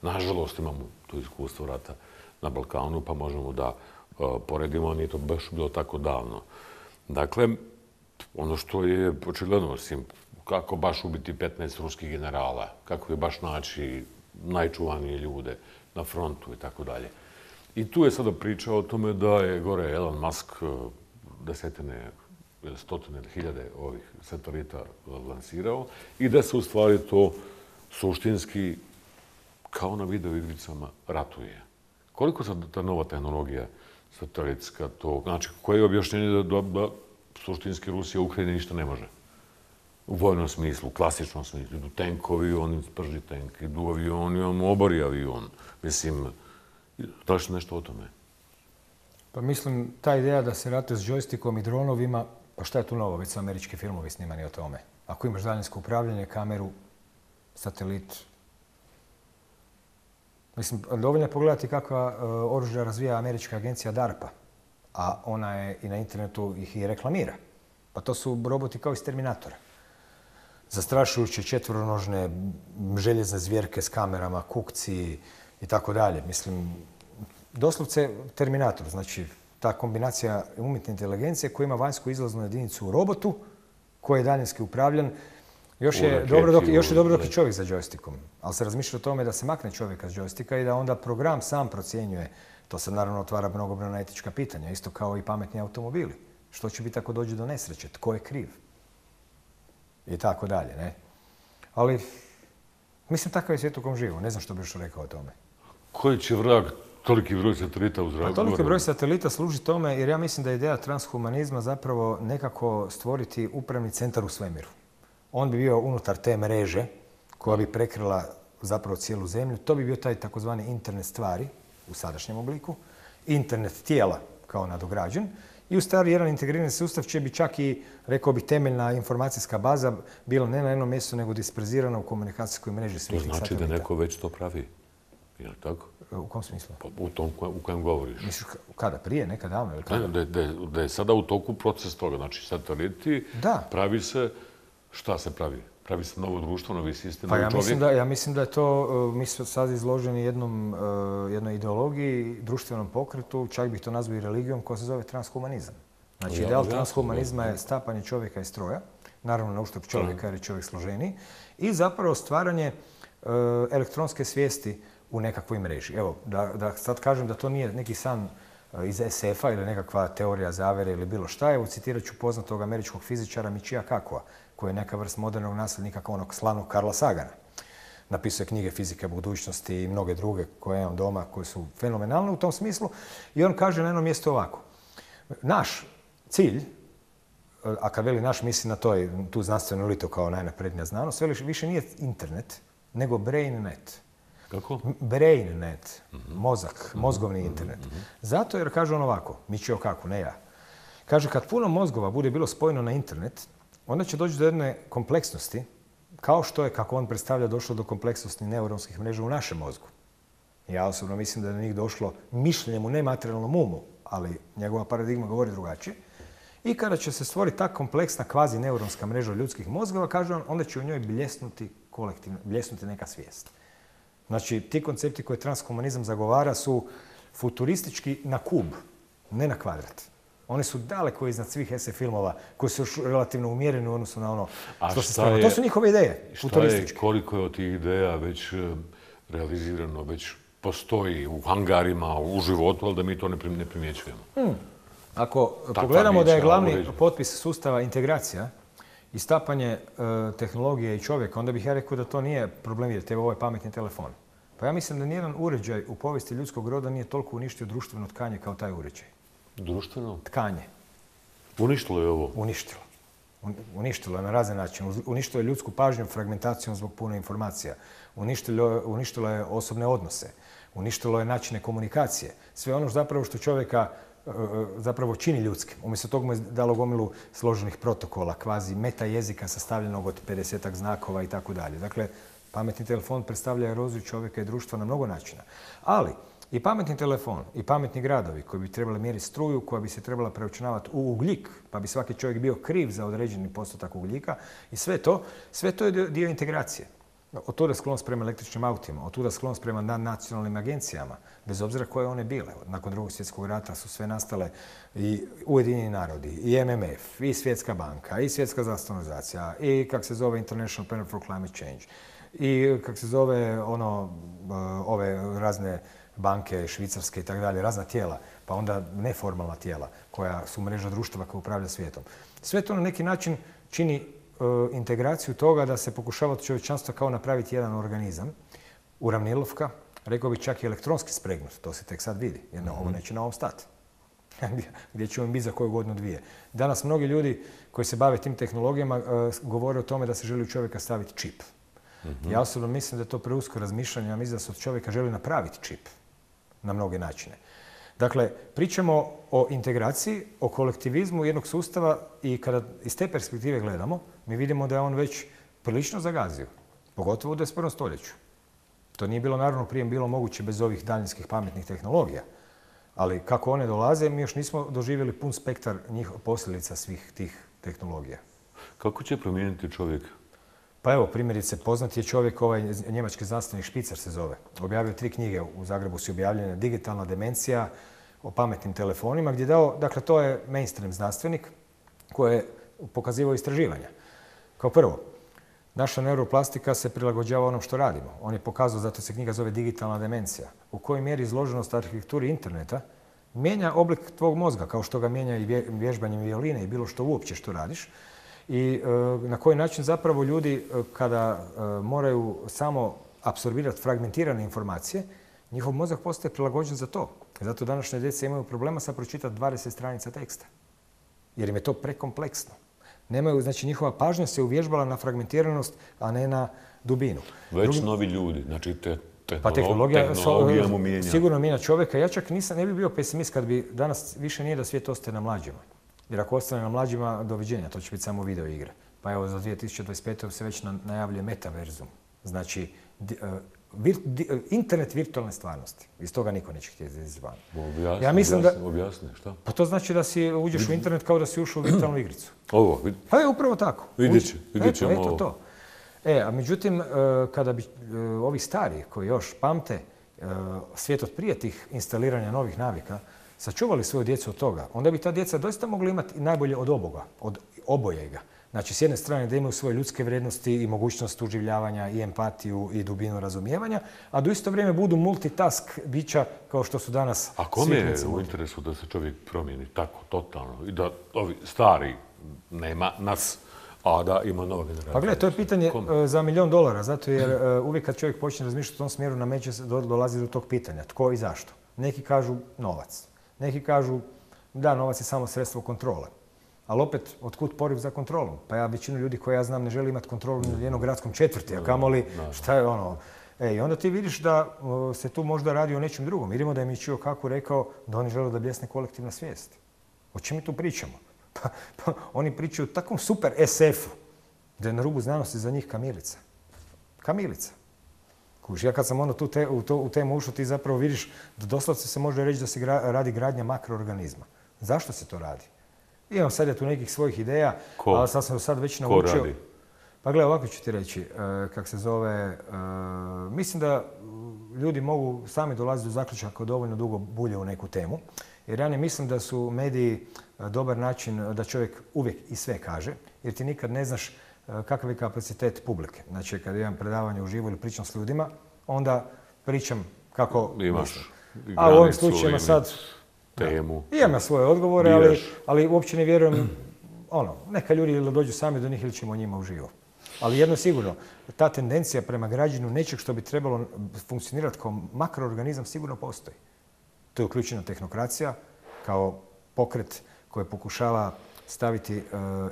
Nažalost, imamo to iskustvo rata na Balkanu, pa možemo da uh, poredimo, nije to baš bilo tako davno. Dakle, ono što je očigledno, osim kako baš ubiti petnaest ruskih generala, kako je baš naći najčuvanije ljude na frontu i tako dalje. I tu je sada priča o tome da je gore Elon Musk desetine, stotine hiljade ovih satelita lansirao i da se u stvari to suštinski, kao na video igricama, ratuje. Koliko sad ta nova tehnologija satelitska to, znači koje je objašnjenje da, da suštinski Rusija u Ukrajini ništa ne može? U vojnom smislu, u klasičnom smislu, idu tenkovi, on sprži tank, idu avioni, on obori avion. Mislim, da li što nešto o tome? Pa mislim, ta ideja da se ratuje s džojstikom i dronovima, pa šta je tu novo? Već su američki filmovi snimani o tome. Ako imaš daljinsko upravljanje, kameru, satelit. Mislim, dovoljno je pogledati kakva uh, oružja razvija američka agencija DARPA, a ona je i na internetu ih i reklamira. Pa to su roboti kao iz Terminatora. Zastrašujuće četvoronožne željezne zvjerke s kamerama, kukci i tako dalje. Mislim, doslovce Terminator, znači ta kombinacija umjetne inteligencije koja ima vanjsku izlaznu jedinicu u robotu, koji je daljinski upravljan. Još je dobro dok, još je, dobro dok je čovjek za džojstikom, ali se razmišlja o tome da se makne čovjeka s džojstika i da onda program sam procjenjuje. To se naravno otvara mnogobrojna etička pitanja, isto kao i pametni automobili. Što će biti ako dođe do nesreće? Tko je kriv? I tako dalje, ne? Ali, mislim, takav je svijet u kom živo. Ne znam što bi još rekao o tome. Koji će vrag toliki broj satelita u zraku? Pa toliki broj satelita služi tome jer ja mislim da je ideja transhumanizma zapravo nekako stvoriti upravni centar u svemiru. On bi bio unutar te mreže koja bi prekrila zapravo cijelu zemlju. To bi bio taj takozvani internet stvari u sadašnjem obliku, internet tijela kao nadograđen i u stvari jedan integrirani sustav će bi čak i, rekao bi, temeljna informacijska baza bila ne na jednom mjestu, nego disperzirana u komunikacijskoj mreži svih satelita. To znači da neko već to pravi, je li tako? U kom smislu? U tom u kojem govoriš. Misliš kada? Prije? Nekad davno? Ili kada? Da, da, da je sada u toku proces toga. Znači, sateliti, da. Pravi se, šta se pravi? Pravi se novo društvo, novi sistem, pa novi ja čovjek? Mislim da, ja mislim da je to, mi smo sad izloženi jednom, jednoj ideologiji, društvenom pokretu, čak bih to nazvao i religijom, koja se zove transhumanizam. Znači, ja, ideal ja, transhumanizma ja, je stapanje čovjeka iz stroja, naravno na uštrb čovjeka jer je čovjek složeniji, i zapravo stvaranje uh, elektronske svijesti u nekakvoj mreži. Evo, da, da sad kažem da to nije neki san iz es efa ili nekakva teorija zavere ili bilo šta. Evo, citirat ću poznatog američkog fizičara Michia Kakua, koji je neka vrst modernog nasljednika onog slavnog Carla Sagana. Napisao je knjige Fizike budućnosti i mnoge druge koje imam doma, koje su fenomenalne u tom smislu. I on kaže na jednom mjestu ovako. Naš cilj, a kad veli naš, misli na to, tu znanstvenu elitu kao najnaprednija znanost, veli više nije internet, nego BrainNet. Kako? BrainNet, mozak, mozgovni internet. Zato jer kaže on ovako, Michio Kaku, ne ja. Kaže, kad puno mozgova bude bilo spojeno na internet, onda će doći do jedne kompleksnosti, kao što je, kako on predstavlja, došlo do kompleksnosti neuronskih mreža u našem mozgu. Ja osobno mislim da je do njih došlo mišljenjem u nematerijalnom umu, ali njegova paradigma govori drugačije. I kada će se stvoriti ta kompleksna kvazi neuronska mreža ljudskih mozgova, kaže on, onda će u njoj bljesnuti kolektivno, bljesnuti neka svijest. Znači, ti koncepti koje transhumanizam zagovara su futuristički na kub, ne na kvadrat. Oni su daleko iznad svih es ef filmova koji su još relativno umjereni u odnosu na ono što se sprema. To su njihove ideje, futurističke. Šta je, koliko je od tih ideja već realizirano, već postoji u hangarima, u životu, ali da mi to ne primjećujemo? Hmm. Ako Takva pogledamo da je glavni potpis sustava integracija i stapanje e, tehnologije i čovjeka, onda bih ja rekao da to nije problem jer te ovaj pametni telefon. Pa ja mislim da nijedan uređaj u povijesti ljudskog roda nije toliko uništio društveno tkanje kao taj uređaj. Društveno? Tkanje. Uništilo je ovo? Uništilo. Uništilo je na razne načine. Uništilo je ljudsku pažnju fragmentacijom zbog puno informacija. Uništilo, uništilo je osobne odnose. Uništilo je načine komunikacije. Sve ono zapravo što čovjeka zapravo čini ljudskim. Umjesto toga mu je dalo gomilu složenih protokola, kvazi meta jezika sastavljenog od pedesetak znakova i tako dalje. Dakle, pametni telefon predstavlja eroziju čovjeka i društva na mnogo načina. Ali i pametni telefon i pametni gradovi koji bi trebali mjeriti struju, koja bi se trebala preračunavati u ugljik, pa bi svaki čovjek bio kriv za određeni postotak ugljika, i sve to, sve to je dio integracije. Od tuda sklonost prema električnim autima, od tuda sklonost prema nacionalnim agencijama, bez obzira koje one bile. Nakon drugog svjetskog rata su sve nastale i Ujedinjeni narodi, i em em ef, i Svjetska banka, i Svjetska zdravstvena organizacija, i kak se zove International Panel for Climate Change, i kak se zove ono, ove razne banke, švicarske i tako dalje, razna tijela, pa onda neformalna tijela koja su mreža društava koja upravlja svijetom. Sve to na neki način čini integraciju toga da se pokušava od čovječanstva kao napraviti jedan organizam, uravnilovka, rekao bi čak i elektronski spregnut, to se tek sad vidi, jer ovo neće na ovom stati. Gdje će on biti za koju godinu dvije. Danas mnogi ljudi koji se bave tim tehnologijama govore o tome da se želi u čovjeka staviti čip. Ja osobno mislim da je to preusko razmišljanje, ja mislim da se od čovjeka želi napraviti čip na mnoge načine. Dakle, pričamo o integraciji, o kolektivizmu jednog sustava i kada iz te perspektive gledamo, mi vidimo da je on već prilično zagazio, pogotovo u dvadeset prvom stoljeću. To nije bilo naravno prije bilo moguće bez ovih daljinskih pametnih tehnologija, ali kako one dolaze, mi još nismo doživjeli pun spektar njih posljedica svih tih tehnologija. Kako će promijeniti čovjek? Pa evo, primjerice, poznat je čovjek, ovaj njemački znanstvenik Špicer se zove. Objavio tri knjige, u Zagrebu su objavljene, Digitalna demencija, o pametnim telefonima, gdje je dao, dakle, to je mainstream znanstvenik koji je pokazivao istraživanja. Kao prvo, naša neuroplastika se prilagođava onom što radimo. On je pokazao, zato se knjiga zove Digitalna demencija, u kojoj mjeri izloženost arhitekturi interneta mijenja oblik tvog mozga, kao što ga mijenja i vježbanjem violine i bilo što uopće što radiš. I e, na koji način zapravo ljudi e, kada e, moraju samo apsorbirati fragmentirane informacije, njihov mozak postaje prilagođen za to. Zato današnje djece imaju problema sa pročitati dvadeset stranica teksta. Jer im je to prekompleksno. Nemaju, znači njihova pažnja se uvježbala na fragmentiranost, a ne na dubinu. Već Drugi... novi ljudi, znači te Tehnolog, Pa tehnologija, tehnologija mu mijenja. Sigurno mijenja čovjeka. Ja čak nisam, ne bi bio pesimist kad bi danas više nije da svijet ostaje na mlađima. Jer ako ostane na mlađima, doviđenja, to će biti samo video igre. Pa evo, za dvije tisuće dvadeset pete. se već najavljuje metaverzum. Znači, di, uh, vir, di, uh, internet virtualne stvarnosti. Iz toga niko neće htjeti izvan. Objasni, ja mislim objasni, da, objasni, šta? Pa to znači da si uđeš u internet kao da si ušao u virtualnu igricu. Ovo, vid... Pa je upravo tako. Vidjet će, vidjet ćemo eto, eto ovo. to. E, a međutim, uh, kada bi uh, ovi stari koji još pamte uh, svijet od prije tih instaliranja novih navika, sačuvali svoju djecu od toga, onda bi ta djeca doista mogla imati najbolje od oboga, od obojega. Znači, s jedne strane da imaju svoje ljudske vrijednosti i mogućnost uživljavanja i empatiju i dubinu razumijevanja, a do isto vrijeme budu multitask bića kao što su danas A kome je u interesu da se čovjek promijeni tako, totalno? I da ovi stari nema nas, a da ima nova generacija? Pa gledaj, to je pitanje Kome? za milijon dolara, zato jer uvijek kad čovjek počne razmišljati u tom smjeru, nameće se, dolazi do tog pitanja. Tko i zašto? Neki kažu novac. Neki kažu da, novac je samo sredstvo kontrole. Ali opet, otkud poriv za kontrolom? Pa ja većinu ljudi koje ja znam ne želi imati kontrolu nad jednom gradskom četvrti, a kamoli šta je ono... E, i onda ti vidiš da o, se tu možda radi o nečem drugom. Vidimo da je Michio Kaku rekao da oni žele da bljesne kolektivna svijest. O čem mi tu pričamo? Pa, pa oni pričaju o takvom super es efu da je na rubu znanosti za njih kamilica. Kamilica. Kuš, ja kad sam ono tu te, u, to, u temu ušao, ti zapravo vidiš da doslovce se može reći da se gra, radi gradnja makroorganizma. Zašto se to radi? Imam sad ja tu nekih svojih ideja, Ko? ali sad sam sad već naučio. Ko radi? Pa gledaj, ovako ću ti reći, e, kak se zove, e, mislim da ljudi mogu sami dolaziti do zaključaka ako dovoljno dugo bulje u neku temu. Jer ja ne mislim da su mediji dobar način da čovjek uvijek i sve kaže, jer ti nikad ne znaš kakav je kapacitet publike. Znači, kad imam predavanje uživo ili pričam s ljudima, onda pričam kako imaš mislim. A u ovim slučajima sad... temu. Da, imam ja svoje odgovore, ali, ali uopće ne vjerujem, ono, neka ljudi ili dođu sami do njih ili ćemo njima uživo. Ali jedno sigurno, ta tendencija prema građenju nečeg što bi trebalo funkcionirati kao makroorganizam sigurno postoji. To je uključena tehnokracija kao pokret koji pokušava staviti e,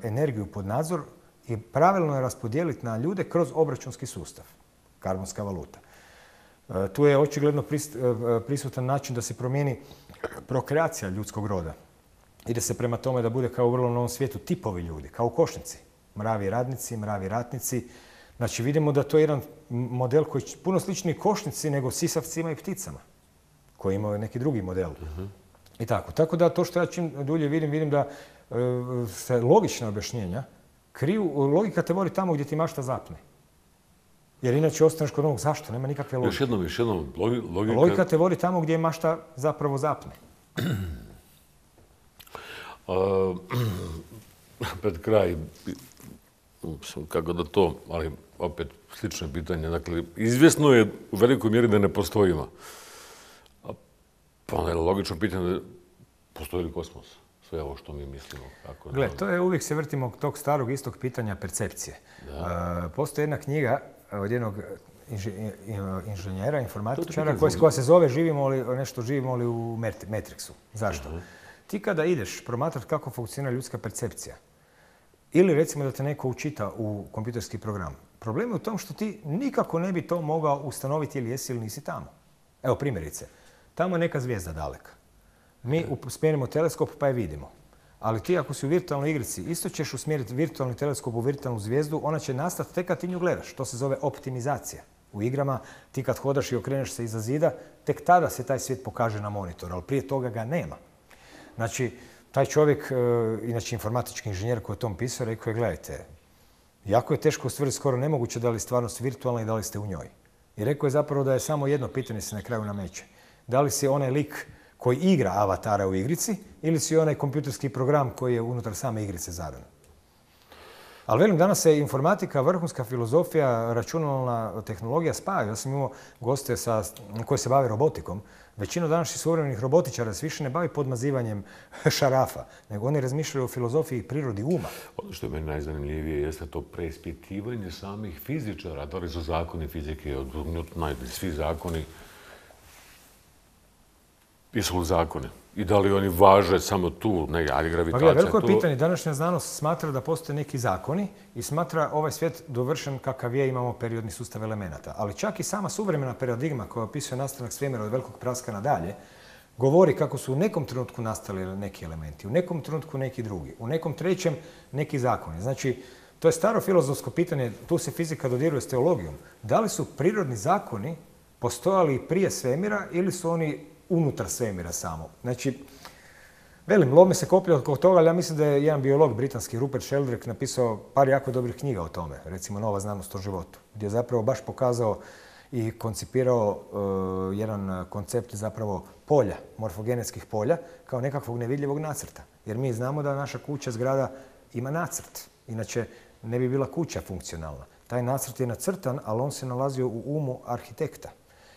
energiju pod nadzor i pravilno je raspodijeliti na ljude kroz obračunski sustav, karbonska valuta. E, tu je očigledno pris, e, prisutan način da se promijeni prokreacija ljudskog roda. Ide se prema tome da bude kao u vrlo novom svijetu tipovi ljudi, kao u košnici. Mravi radnici, mravi ratnici. Znači vidimo da to je jedan model koji je puno sličniji košnici nego sisavcima i pticama, koji imaju neki drugi model. Uh-huh. I tako. Tako da to što ja čim dulje vidim, vidim da e, se logična objašnjenja kriju, logika te vodi tamo gdje ti mašta zapne. Jer inače ostaneš kod onog zašto, nema nikakve logike. Još jednom, još jednom, logika... Logika te vodi tamo gdje mašta zapravo zapne. uh, pred kraj, kako da to, ali opet slično pitanje. Dakle, izvjesno je u velikoj mjeri da ne postojimo. Pa onda je logično pitanje da postoji li kosmos? Sve ovo što mi mislimo. Gle, to je uvijek se vrtimo tog starog istog pitanja percepcije. Da. Uh, postoji jedna knjiga od jednog inženjera, informatičara, koja, koja se zove Živimo li, nešto živimo li u Matrixu. Zašto? Uh-huh. Ti kada ideš promatrati kako funkcionira ljudska percepcija, ili recimo da te neko učita u kompjuterski program, problem je u tom što ti nikako ne bi to mogao ustanoviti ili jesi ili nisi tamo. Evo primjerice, tamo je neka zvijezda daleka. Mi usmjerimo teleskop pa je vidimo. Ali ti ako si u virtualnoj igrici, isto ćeš usmjeriti virtualni teleskop u virtualnu zvijezdu, ona će nastati tek kad ti nju gledaš. To se zove optimizacija. U igrama ti kad hodaš i okreneš se iza zida, tek tada se taj svijet pokaže na monitoru, ali prije toga ga nema. Znači, taj čovjek, inače informatički inženjer koji je tom pisao, rekao je, gledajte, jako je teško ustvrditi, skoro nemoguće da li je stvarnost virtualna i da li ste u njoj. I rekao je zapravo da je samo jedno pitanje se na kraju nameće. Da li si onaj lik koji igra avatara u igrici ili si onaj kompjuterski program koji je unutar same igrice zadan. Ali velim, danas se informatika, vrhunska filozofija, računalna tehnologija spajaju. Ja sam imao goste sa, koji se bave robotikom. Većina današnjih suvremenih robotičara se više ne bavi podmazivanjem šarafa, nego oni razmišljaju o filozofiji i prirodi uma. Ono što je meni najzanimljivije jeste to preispitivanje samih fizičara. Da li su zakoni fizike od Newtona, svi zakoni jesu li zakoni? I da li oni važe samo tu, ne, ali gravitacija tu? Pa veliko je pitanje. Današnja znanost smatra da postoje neki zakoni i smatra ovaj svijet dovršen kakav je, imamo periodni sustav elemenata. Ali čak i sama suvremena paradigma koja opisuje nastanak svemira od velikog praska nadalje, govori kako su u nekom trenutku nastali neki elementi, u nekom trenutku neki drugi, u nekom trećem neki zakoni. Znači, to je staro filozofsko pitanje, tu se fizika dodiruje s teologijom. Da li su prirodni zakoni postojali prije svemira ili su oni unutar svemira samo? Znači, velim, lome se koplja oko toga, ali ja mislim da je jedan biolog britanski, Rupert Sheldrake, napisao par jako dobrih knjiga o tome, recimo Nova znanost o životu, gdje je zapravo baš pokazao i koncipirao uh, jedan koncept zapravo polja, morfogenetskih polja, kao nekakvog nevidljivog nacrta. Jer mi znamo da naša kuća, zgrada, ima nacrt. Inače, ne bi bila kuća funkcionalna. Taj nacrt je nacrtan, ali on se nalazio u umu arhitekta.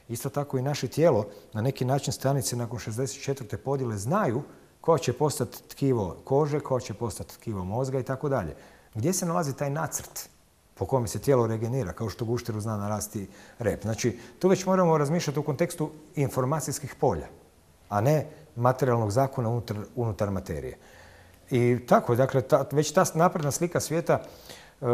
Isto tako i naše tijelo, na neki način stanice nakon šezdeset četvrte podjele znaju ko će postati tkivo kože, ko će postati tkivo mozga i tako dalje. Gdje se nalazi taj nacrt po kome se tijelo regenera, kao što gušteru zna narasti rep? Znači, tu već moramo razmišljati u kontekstu informacijskih polja, a ne materijalnog zakona unutar, unutar materije. I tako, dakle, ta, već ta napredna slika svijeta e,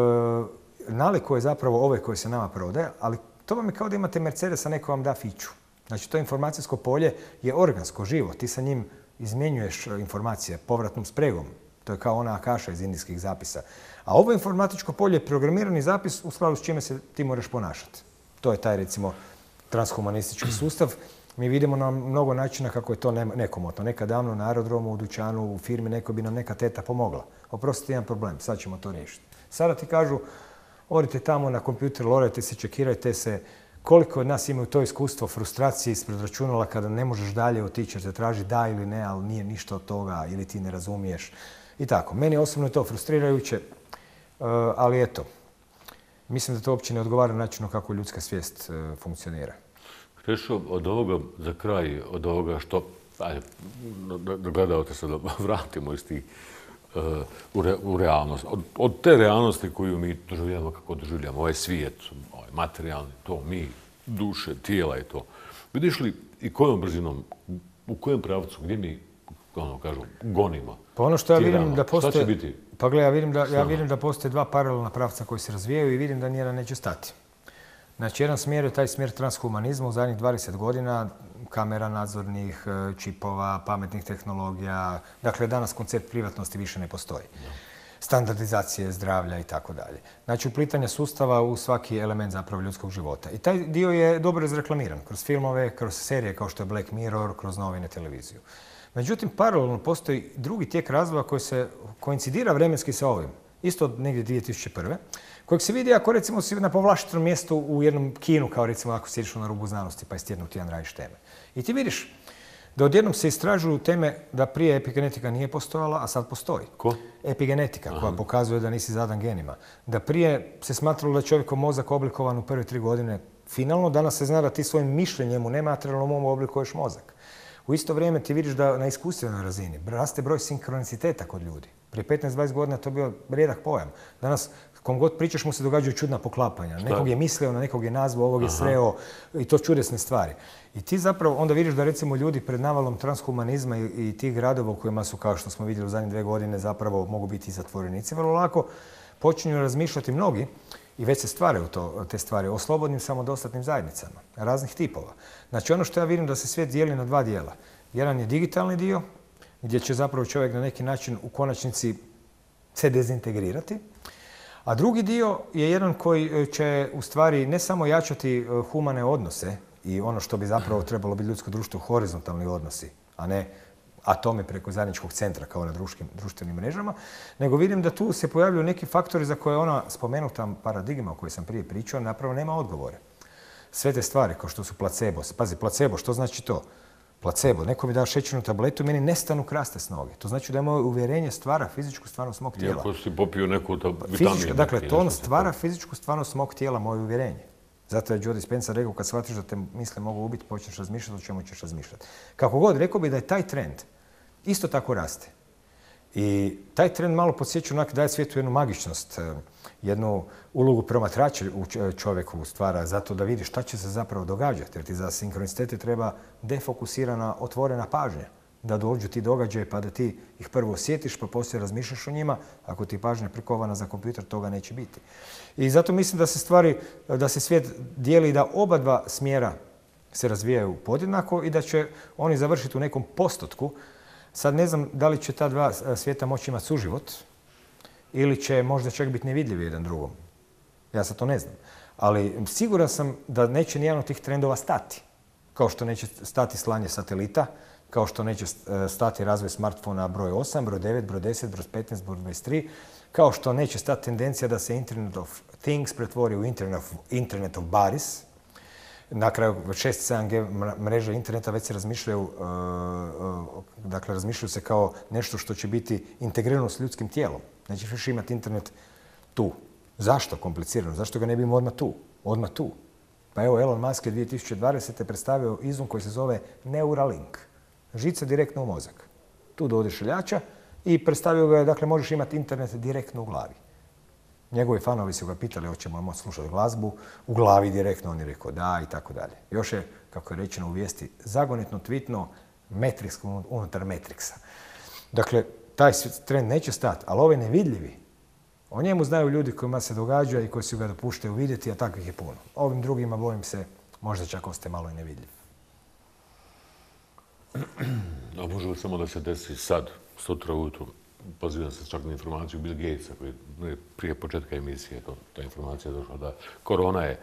nalikuje zapravo ove koje se nama prodaje, ali to vam je kao da imate Mercedesa, neko vam da fiću. Znači, to informacijsko polje je organsko, živo. Ti sa njim izmjenjuješ informacije povratnom spregom. To je kao ona akaša iz indijskih zapisa. A ovo informatičko polje je programirani zapis u skladu s čime se ti moraš ponašati. To je taj, recimo, transhumanistički sustav. Mi vidimo na mnogo načina kako je to nekomotno. Nekad davno na aerodromu, u dućanu, u firmi, neko bi nam neka teta pomogla. Oprostite, jedan problem, sad ćemo to riješiti. Sada ti kažu, odite tamo na kompjuter, lorajte se, čekirajte se. Koliko od nas imaju to iskustvo frustracije ispred računala kada ne možeš dalje otići jer te traži da ili ne, ali nije ništa od toga ili ti ne razumiješ. I tako. Meni osobno je to frustrirajuće, ali eto, mislim da to uopće ne odgovara načinu kako ljudska svijest funkcionira. Krešo, od ovoga za kraj, od ovoga što, ajde, da gledate se da vratimo iz tih uh, u, re, u realnost. Od, od te realnosti koju mi doživljamo kako doživljamo, ovaj svijet, ovaj materijalni, to mi, duše, tijela i to. Vidiš li i kojom brzinom, u kojem pravcu, gdje mi, ono kažu, gonimo? Pa ono što ja vidim da postoje... Šta će biti? Pa gle, ja vidim da, ja vidim da postoje dva paralelna pravca koji se razvijaju i vidim da nijedan neće stati. Znači, jedan smjer je taj smjer transhumanizma u zadnjih dvadeset godina, kamera nadzornih, čipova, pametnih tehnologija. Dakle, danas koncept privatnosti više ne postoji. Standardizacije zdravlja i tako dalje. Znači, uplitanje sustava u svaki element zapravo ljudskog života. I taj dio je dobro izreklamiran kroz filmove, kroz serije kao što je Black Mirror, kroz novine, televiziju. Međutim, paralelno postoji drugi tijek razvoja koji se koincidira vremenski sa ovim. Isto od negdje dvije tisuće prve. Kojeg se vidi ako recimo si na povlaštenom mjestu u jednom kinu, kao recimo ako si išao na rubu znanosti pa iz tjedna u tjedan radiš teme. I ti vidiš da odjednom se istražuju teme da prije epigenetika nije postojala, a sad postoji. Ko? Epigenetika, Aha. koja pokazuje da nisi zadan genima. Da prije se smatralo da je čovjekov mozak oblikovan u prve tri godine finalno, danas se zna da ti svojim mišljenjem u nematerijalnom umu oblikuješ mozak. U isto vrijeme ti vidiš da na iskustvenoj razini raste broj sinkroniciteta kod ljudi. Prije petnaest dvadeset godina to je bio rijedak pojam. Danas, kom god pričaš, mu se događaju čudna poklapanja. Šta? Nekog je mislio, na nekog je nazvao, ovog je Aha. sreo i to čudesne stvari. I ti zapravo onda vidiš da recimo ljudi pred navalom transhumanizma i, i tih gradova u kojima su, kao što smo vidjeli u zadnje dvije godine, zapravo mogu biti i zatvorenici, vrlo lako počinju razmišljati mnogi i već se stvaraju to, te stvari o slobodnim samodostatnim zajednicama raznih tipova. Znači ono što ja vidim da se svijet dijeli na dva dijela. Jedan je digitalni dio, gdje će zapravo čovjek na neki način u konačnici se dezintegrirati. A drugi dio je jedan koji će u stvari ne samo jačati humane odnose i ono što bi zapravo trebalo biti ljudsko društvo, horizontalni odnosi, a ne atomi preko zajedničkog centra kao na društvenim mrežama, nego vidim da tu se pojavljuju neki faktori za koje ona spomenuta paradigma o kojoj sam prije pričao napravo nema odgovore. Sve te stvari kao što su placebo. Pazi, placebo, što znači to? Placebo, neko mi da šećernu tabletu i meni nestanu kraste s noge. To znači da je moje uvjerenje stvara fizičku stvarnost mog tijela. Iako si popio neku vitaminu. Dakle, to on stvara fizičku stvarnost mog tijela, moje uvjerenje. Zato je Joe Dispenza rekao, kad shvatiš da te misle mogu ubiti, počneš razmišljati o čemu ćeš razmišljati. Kako god, rekao bi da je taj trend isto tako raste. I taj trend malo podsjeća onak daje svijetu jednu magičnost, jednu ulogu promatrača u čovjeku stvara, zato da vidi šta će se zapravo događati. Jer ti za sinkronicitete treba defokusirana, otvorena pažnja. Da dođu ti događaje pa da ti ih prvo osjetiš pa poslije razmišljaš o njima. Ako ti pažnja prikovana za kompjuter, toga neće biti. I zato mislim da se stvari, da se svijet dijeli da oba dva smjera se razvijaju podjednako i da će oni završiti u nekom postotku. Sad ne znam da li će ta dva svijeta moći imati suživot ili će možda čak biti nevidljivi jedan drugom. Ja sad to ne znam. Ali siguran sam da neće nijedan od tih trendova stati. Kao što neće stati slanje satelita, kao što neće stati razvoj smartfona broj osam, broj devet, broj deset, broj petnaest, broj dvadeset tri, kao što neće stati tendencija da se Internet of Things pretvori u Internet of, Internet of Bodies. Na kraju šest sedam G mreže interneta već se razmišljaju, dakle razmišljaju se kao nešto što će biti integrirano s ljudskim tijelom. Nećeš više imati internet tu. Zašto komplicirano? Zašto ga ne bi imao odmah tu? Odmah tu. Pa evo, Elon Musk je dvije tisuće dvadesete predstavio izum koji se zove Neuralink. Žica direktno u mozak. Tu do odešiljača i predstavio ga je, dakle, možeš imati internet direktno u glavi. Njegovi fanovi su ga pitali hoćemo moći slušati glazbu u glavi direktno, on je rekao da i tako dalje. Još je, kako je rečeno u vijesti, zagonetno, tvitno, Matrix unutar Matrixa. Dakle, taj trend neće stati, ali ovaj nevidljivi, o njemu znaju ljudi kojima se događa i koji su ga dopuštaju vidjeti, a takvih je puno. Ovim drugima, bojim se, možda čak ostaje malo i nevidljiv. A može li samo da se desi sad, sutra ujutru? Pozivam se čak na informaciju Bill Gatesa, koji prije početka emisije to, ta informacija je došla da korona je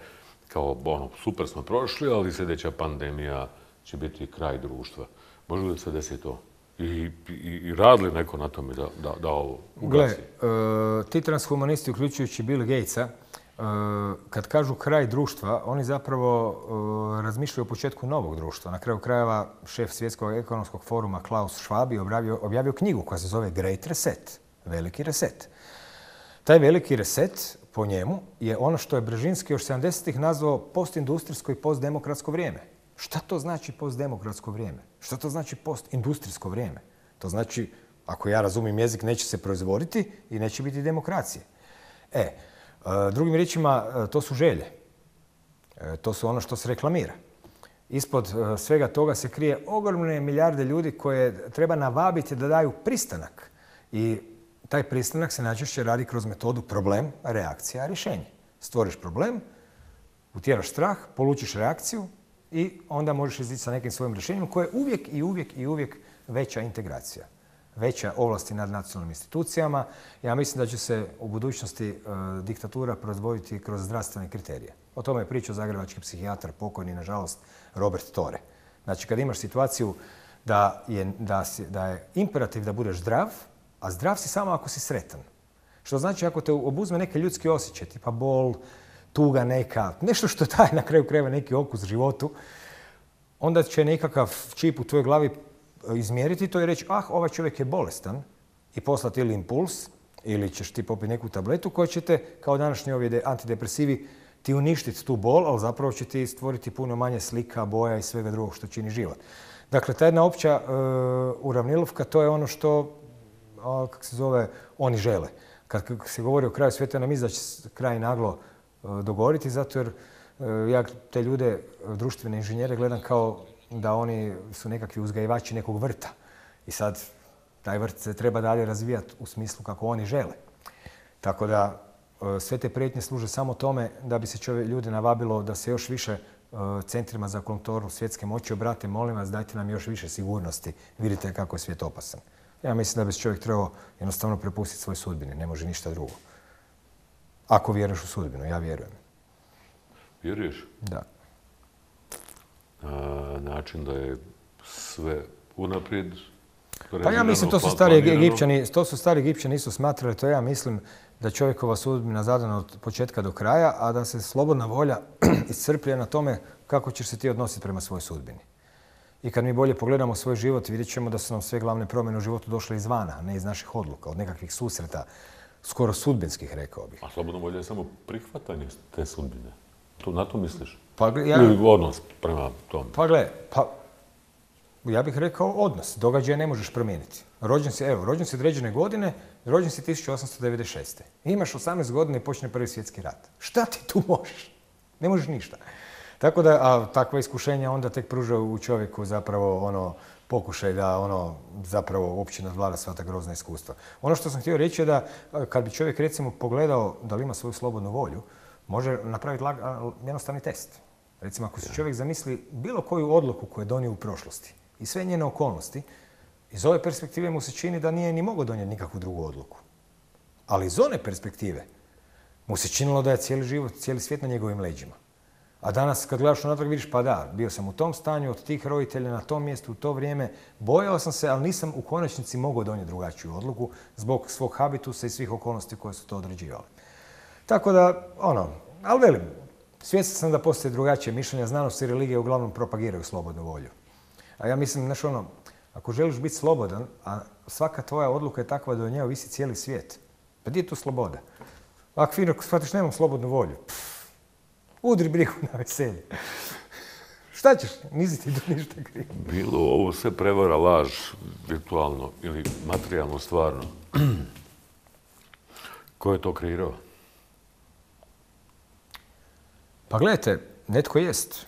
kao ono, super smo prošli, ali sljedeća pandemija će biti kraj društva. Može li se desi to? I, i, i radi li neko na tome da, da, da ovo ugasi? Gle, uh, ti transhumanisti, uključujući Bill Gatesa, uh, kad kažu kraj društva, oni zapravo uh, razmišljaju o početku novog društva. Na kraju krajeva šef Svjetskog ekonomskog foruma Klaus Schwab je objavio, objavio knjigu koja se zove Great Reset, veliki reset. Taj veliki reset, po njemu, je ono što je Brzezinski još sedamdesetih nazvao postindustrijsko i postdemokratsko vrijeme. Šta to znači postdemokratsko vrijeme? Šta to znači postindustrijsko vrijeme? To znači, ako ja razumijem jezik, neće se proizvoditi i neće biti demokracije. E, drugim riječima, to su želje. To su ono što se reklamira. Ispod svega toga se krije ogromne milijarde ljudi koje treba navabiti da daju pristanak. I taj pristanak se najčešće radi kroz metodu problem, reakcija, rješenje. Stvoriš problem, utjeraš strah, polučiš reakciju i onda možeš izići sa nekim svojim rješenjem koje je uvijek i uvijek i uvijek veća integracija. Veća ovlasti nad nacionalnim institucijama. Ja mislim da će se u budućnosti e, diktatura proizvoditi kroz zdravstvene kriterije. O tome je pričao zagrebački psihijatar, pokojni, nažalost, Robert Tore. Znači, kad imaš situaciju da je, da, si, da je imperativ da budeš zdrav, a zdrav si samo ako si sretan. Što znači ako te obuzme neke ljudski osjećaj, tipa bol, tuga neka, nešto što daje na kraju krajeva neki okus životu, onda će nekakav čip u tvojoj glavi izmjeriti to i reći, ah, ovaj čovjek je bolestan i poslati ili impuls, ili ćeš ti popiti neku tabletu koja će te, kao današnji ovi antidepresivi, ti uništiti tu bol, ali zapravo će ti stvoriti puno manje slika, boja i svega drugog što čini život. Dakle, ta jedna opća uh, uravnilovka, to je ono što, uh, kako se zove, oni žele. Kad se govori o kraju svijeta, nam izda će kraj naglo uh, dogovoriti, zato jer uh, ja te ljude, društvene inženjere, gledam kao da oni su nekakvi uzgajivači nekog vrta. I sad taj vrt se treba dalje razvijati u smislu kako oni žele. Tako da sve te prijetnje služe samo tome da bi se čovjek, ljude navabilo da se još više centrima za kontrolu svjetske moći obrate. Molim vas, dajte nam još više sigurnosti. Vidite kako je svijet opasan. Ja mislim da bi se čovjek trebao jednostavno prepustiti svoj sudbini. Ne može ništa drugo. Ako vjeruješ u sudbinu, ja vjerujem. Vjeruješ? Da. A, način da je sve unaprijed. Pa ja mislim, to su stari Egipćani, to su stari Egipćani nisu smatrali, to ja mislim da čovjekova sudbina zadana od početka do kraja, a da se slobodna volja iscrpljuje na tome kako ćeš se ti odnositi prema svojoj sudbini. I kad mi bolje pogledamo svoj život, vidjet ćemo da su nam sve glavne promjene u životu došle izvana, a ne iz naših odluka, od nekakvih susreta, skoro sudbinskih, rekao bih. A slobodna volja je samo prihvatanje te sudbine. To, na to misliš? Pa, ja, ili odnos prema tom? Pa gle, pa ja bih rekao odnos. Događaje ne možeš promijeniti. Rođen si, evo, rođen si određene godine, rođen si tisuću osamsto devedeset šeste. Imaš osamnaest godina i počne Prvi svjetski rat. Šta ti tu možeš? Ne možeš ništa. Tako da, a takva iskušenja onda tek pruža u čovjeku zapravo ono pokušaj da ono zapravo uopće nadvlada sva ta grozna iskustva. Ono što sam htio reći je da kad bi čovjek recimo pogledao da li ima svoju slobodnu volju, može napraviti lag, jednostavni test. Recimo ako se čovjek zamisli bilo koju odluku koju je donio u prošlosti i sve njene okolnosti, iz ove perspektive mu se čini da nije ni mogao donijeti nikakvu drugu odluku. Ali iz one perspektive mu se činilo da je cijeli život, cijeli svijet na njegovim leđima. A danas kad gledaš unatrag vidiš pa da, bio sam u tom stanju, od tih roditelja, na tom mjestu, u to vrijeme, bojao sam se, ali nisam u konačnici mogao donijeti drugačiju odluku zbog svog habitusa i svih okolnosti koje su to određivale. Tako da, ono, ali velim, svjestan sam da postoje drugačije mišljenja, znanost i religija uglavnom propagiraju slobodnu volju. A ja mislim, znaš ono, ako želiš biti slobodan, a svaka tvoja odluka je takva da od nje ovisi cijeli svijet, pa gdje je tu sloboda? Ako fino shvatiš, nemam slobodnu volju. Pff, udri brigu na veselje. Šta ćeš? Nisi ti tu ništa krivo. Bilo ovo sve prevara, laž, virtualno ili materijalno stvarno. Ko je to kreirao? Pa gledajte, netko jest.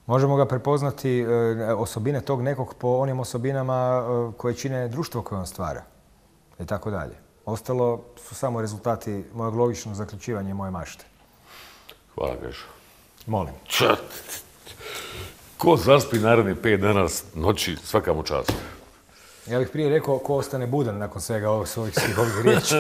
Možemo ga prepoznati e, osobine tog nekog po onim osobinama e, koje čine društvo koje on stvara. I tako dalje. Ostalo su samo rezultati mojeg logičnog zaključivanja i moje mašte. Hvala, Krešo. Molim. Čat! Ko zaspi naredni pet dana noći, svaka mu čast. Ja bih prije rekao ko ostane budan nakon svega ovih svih ovih riječi.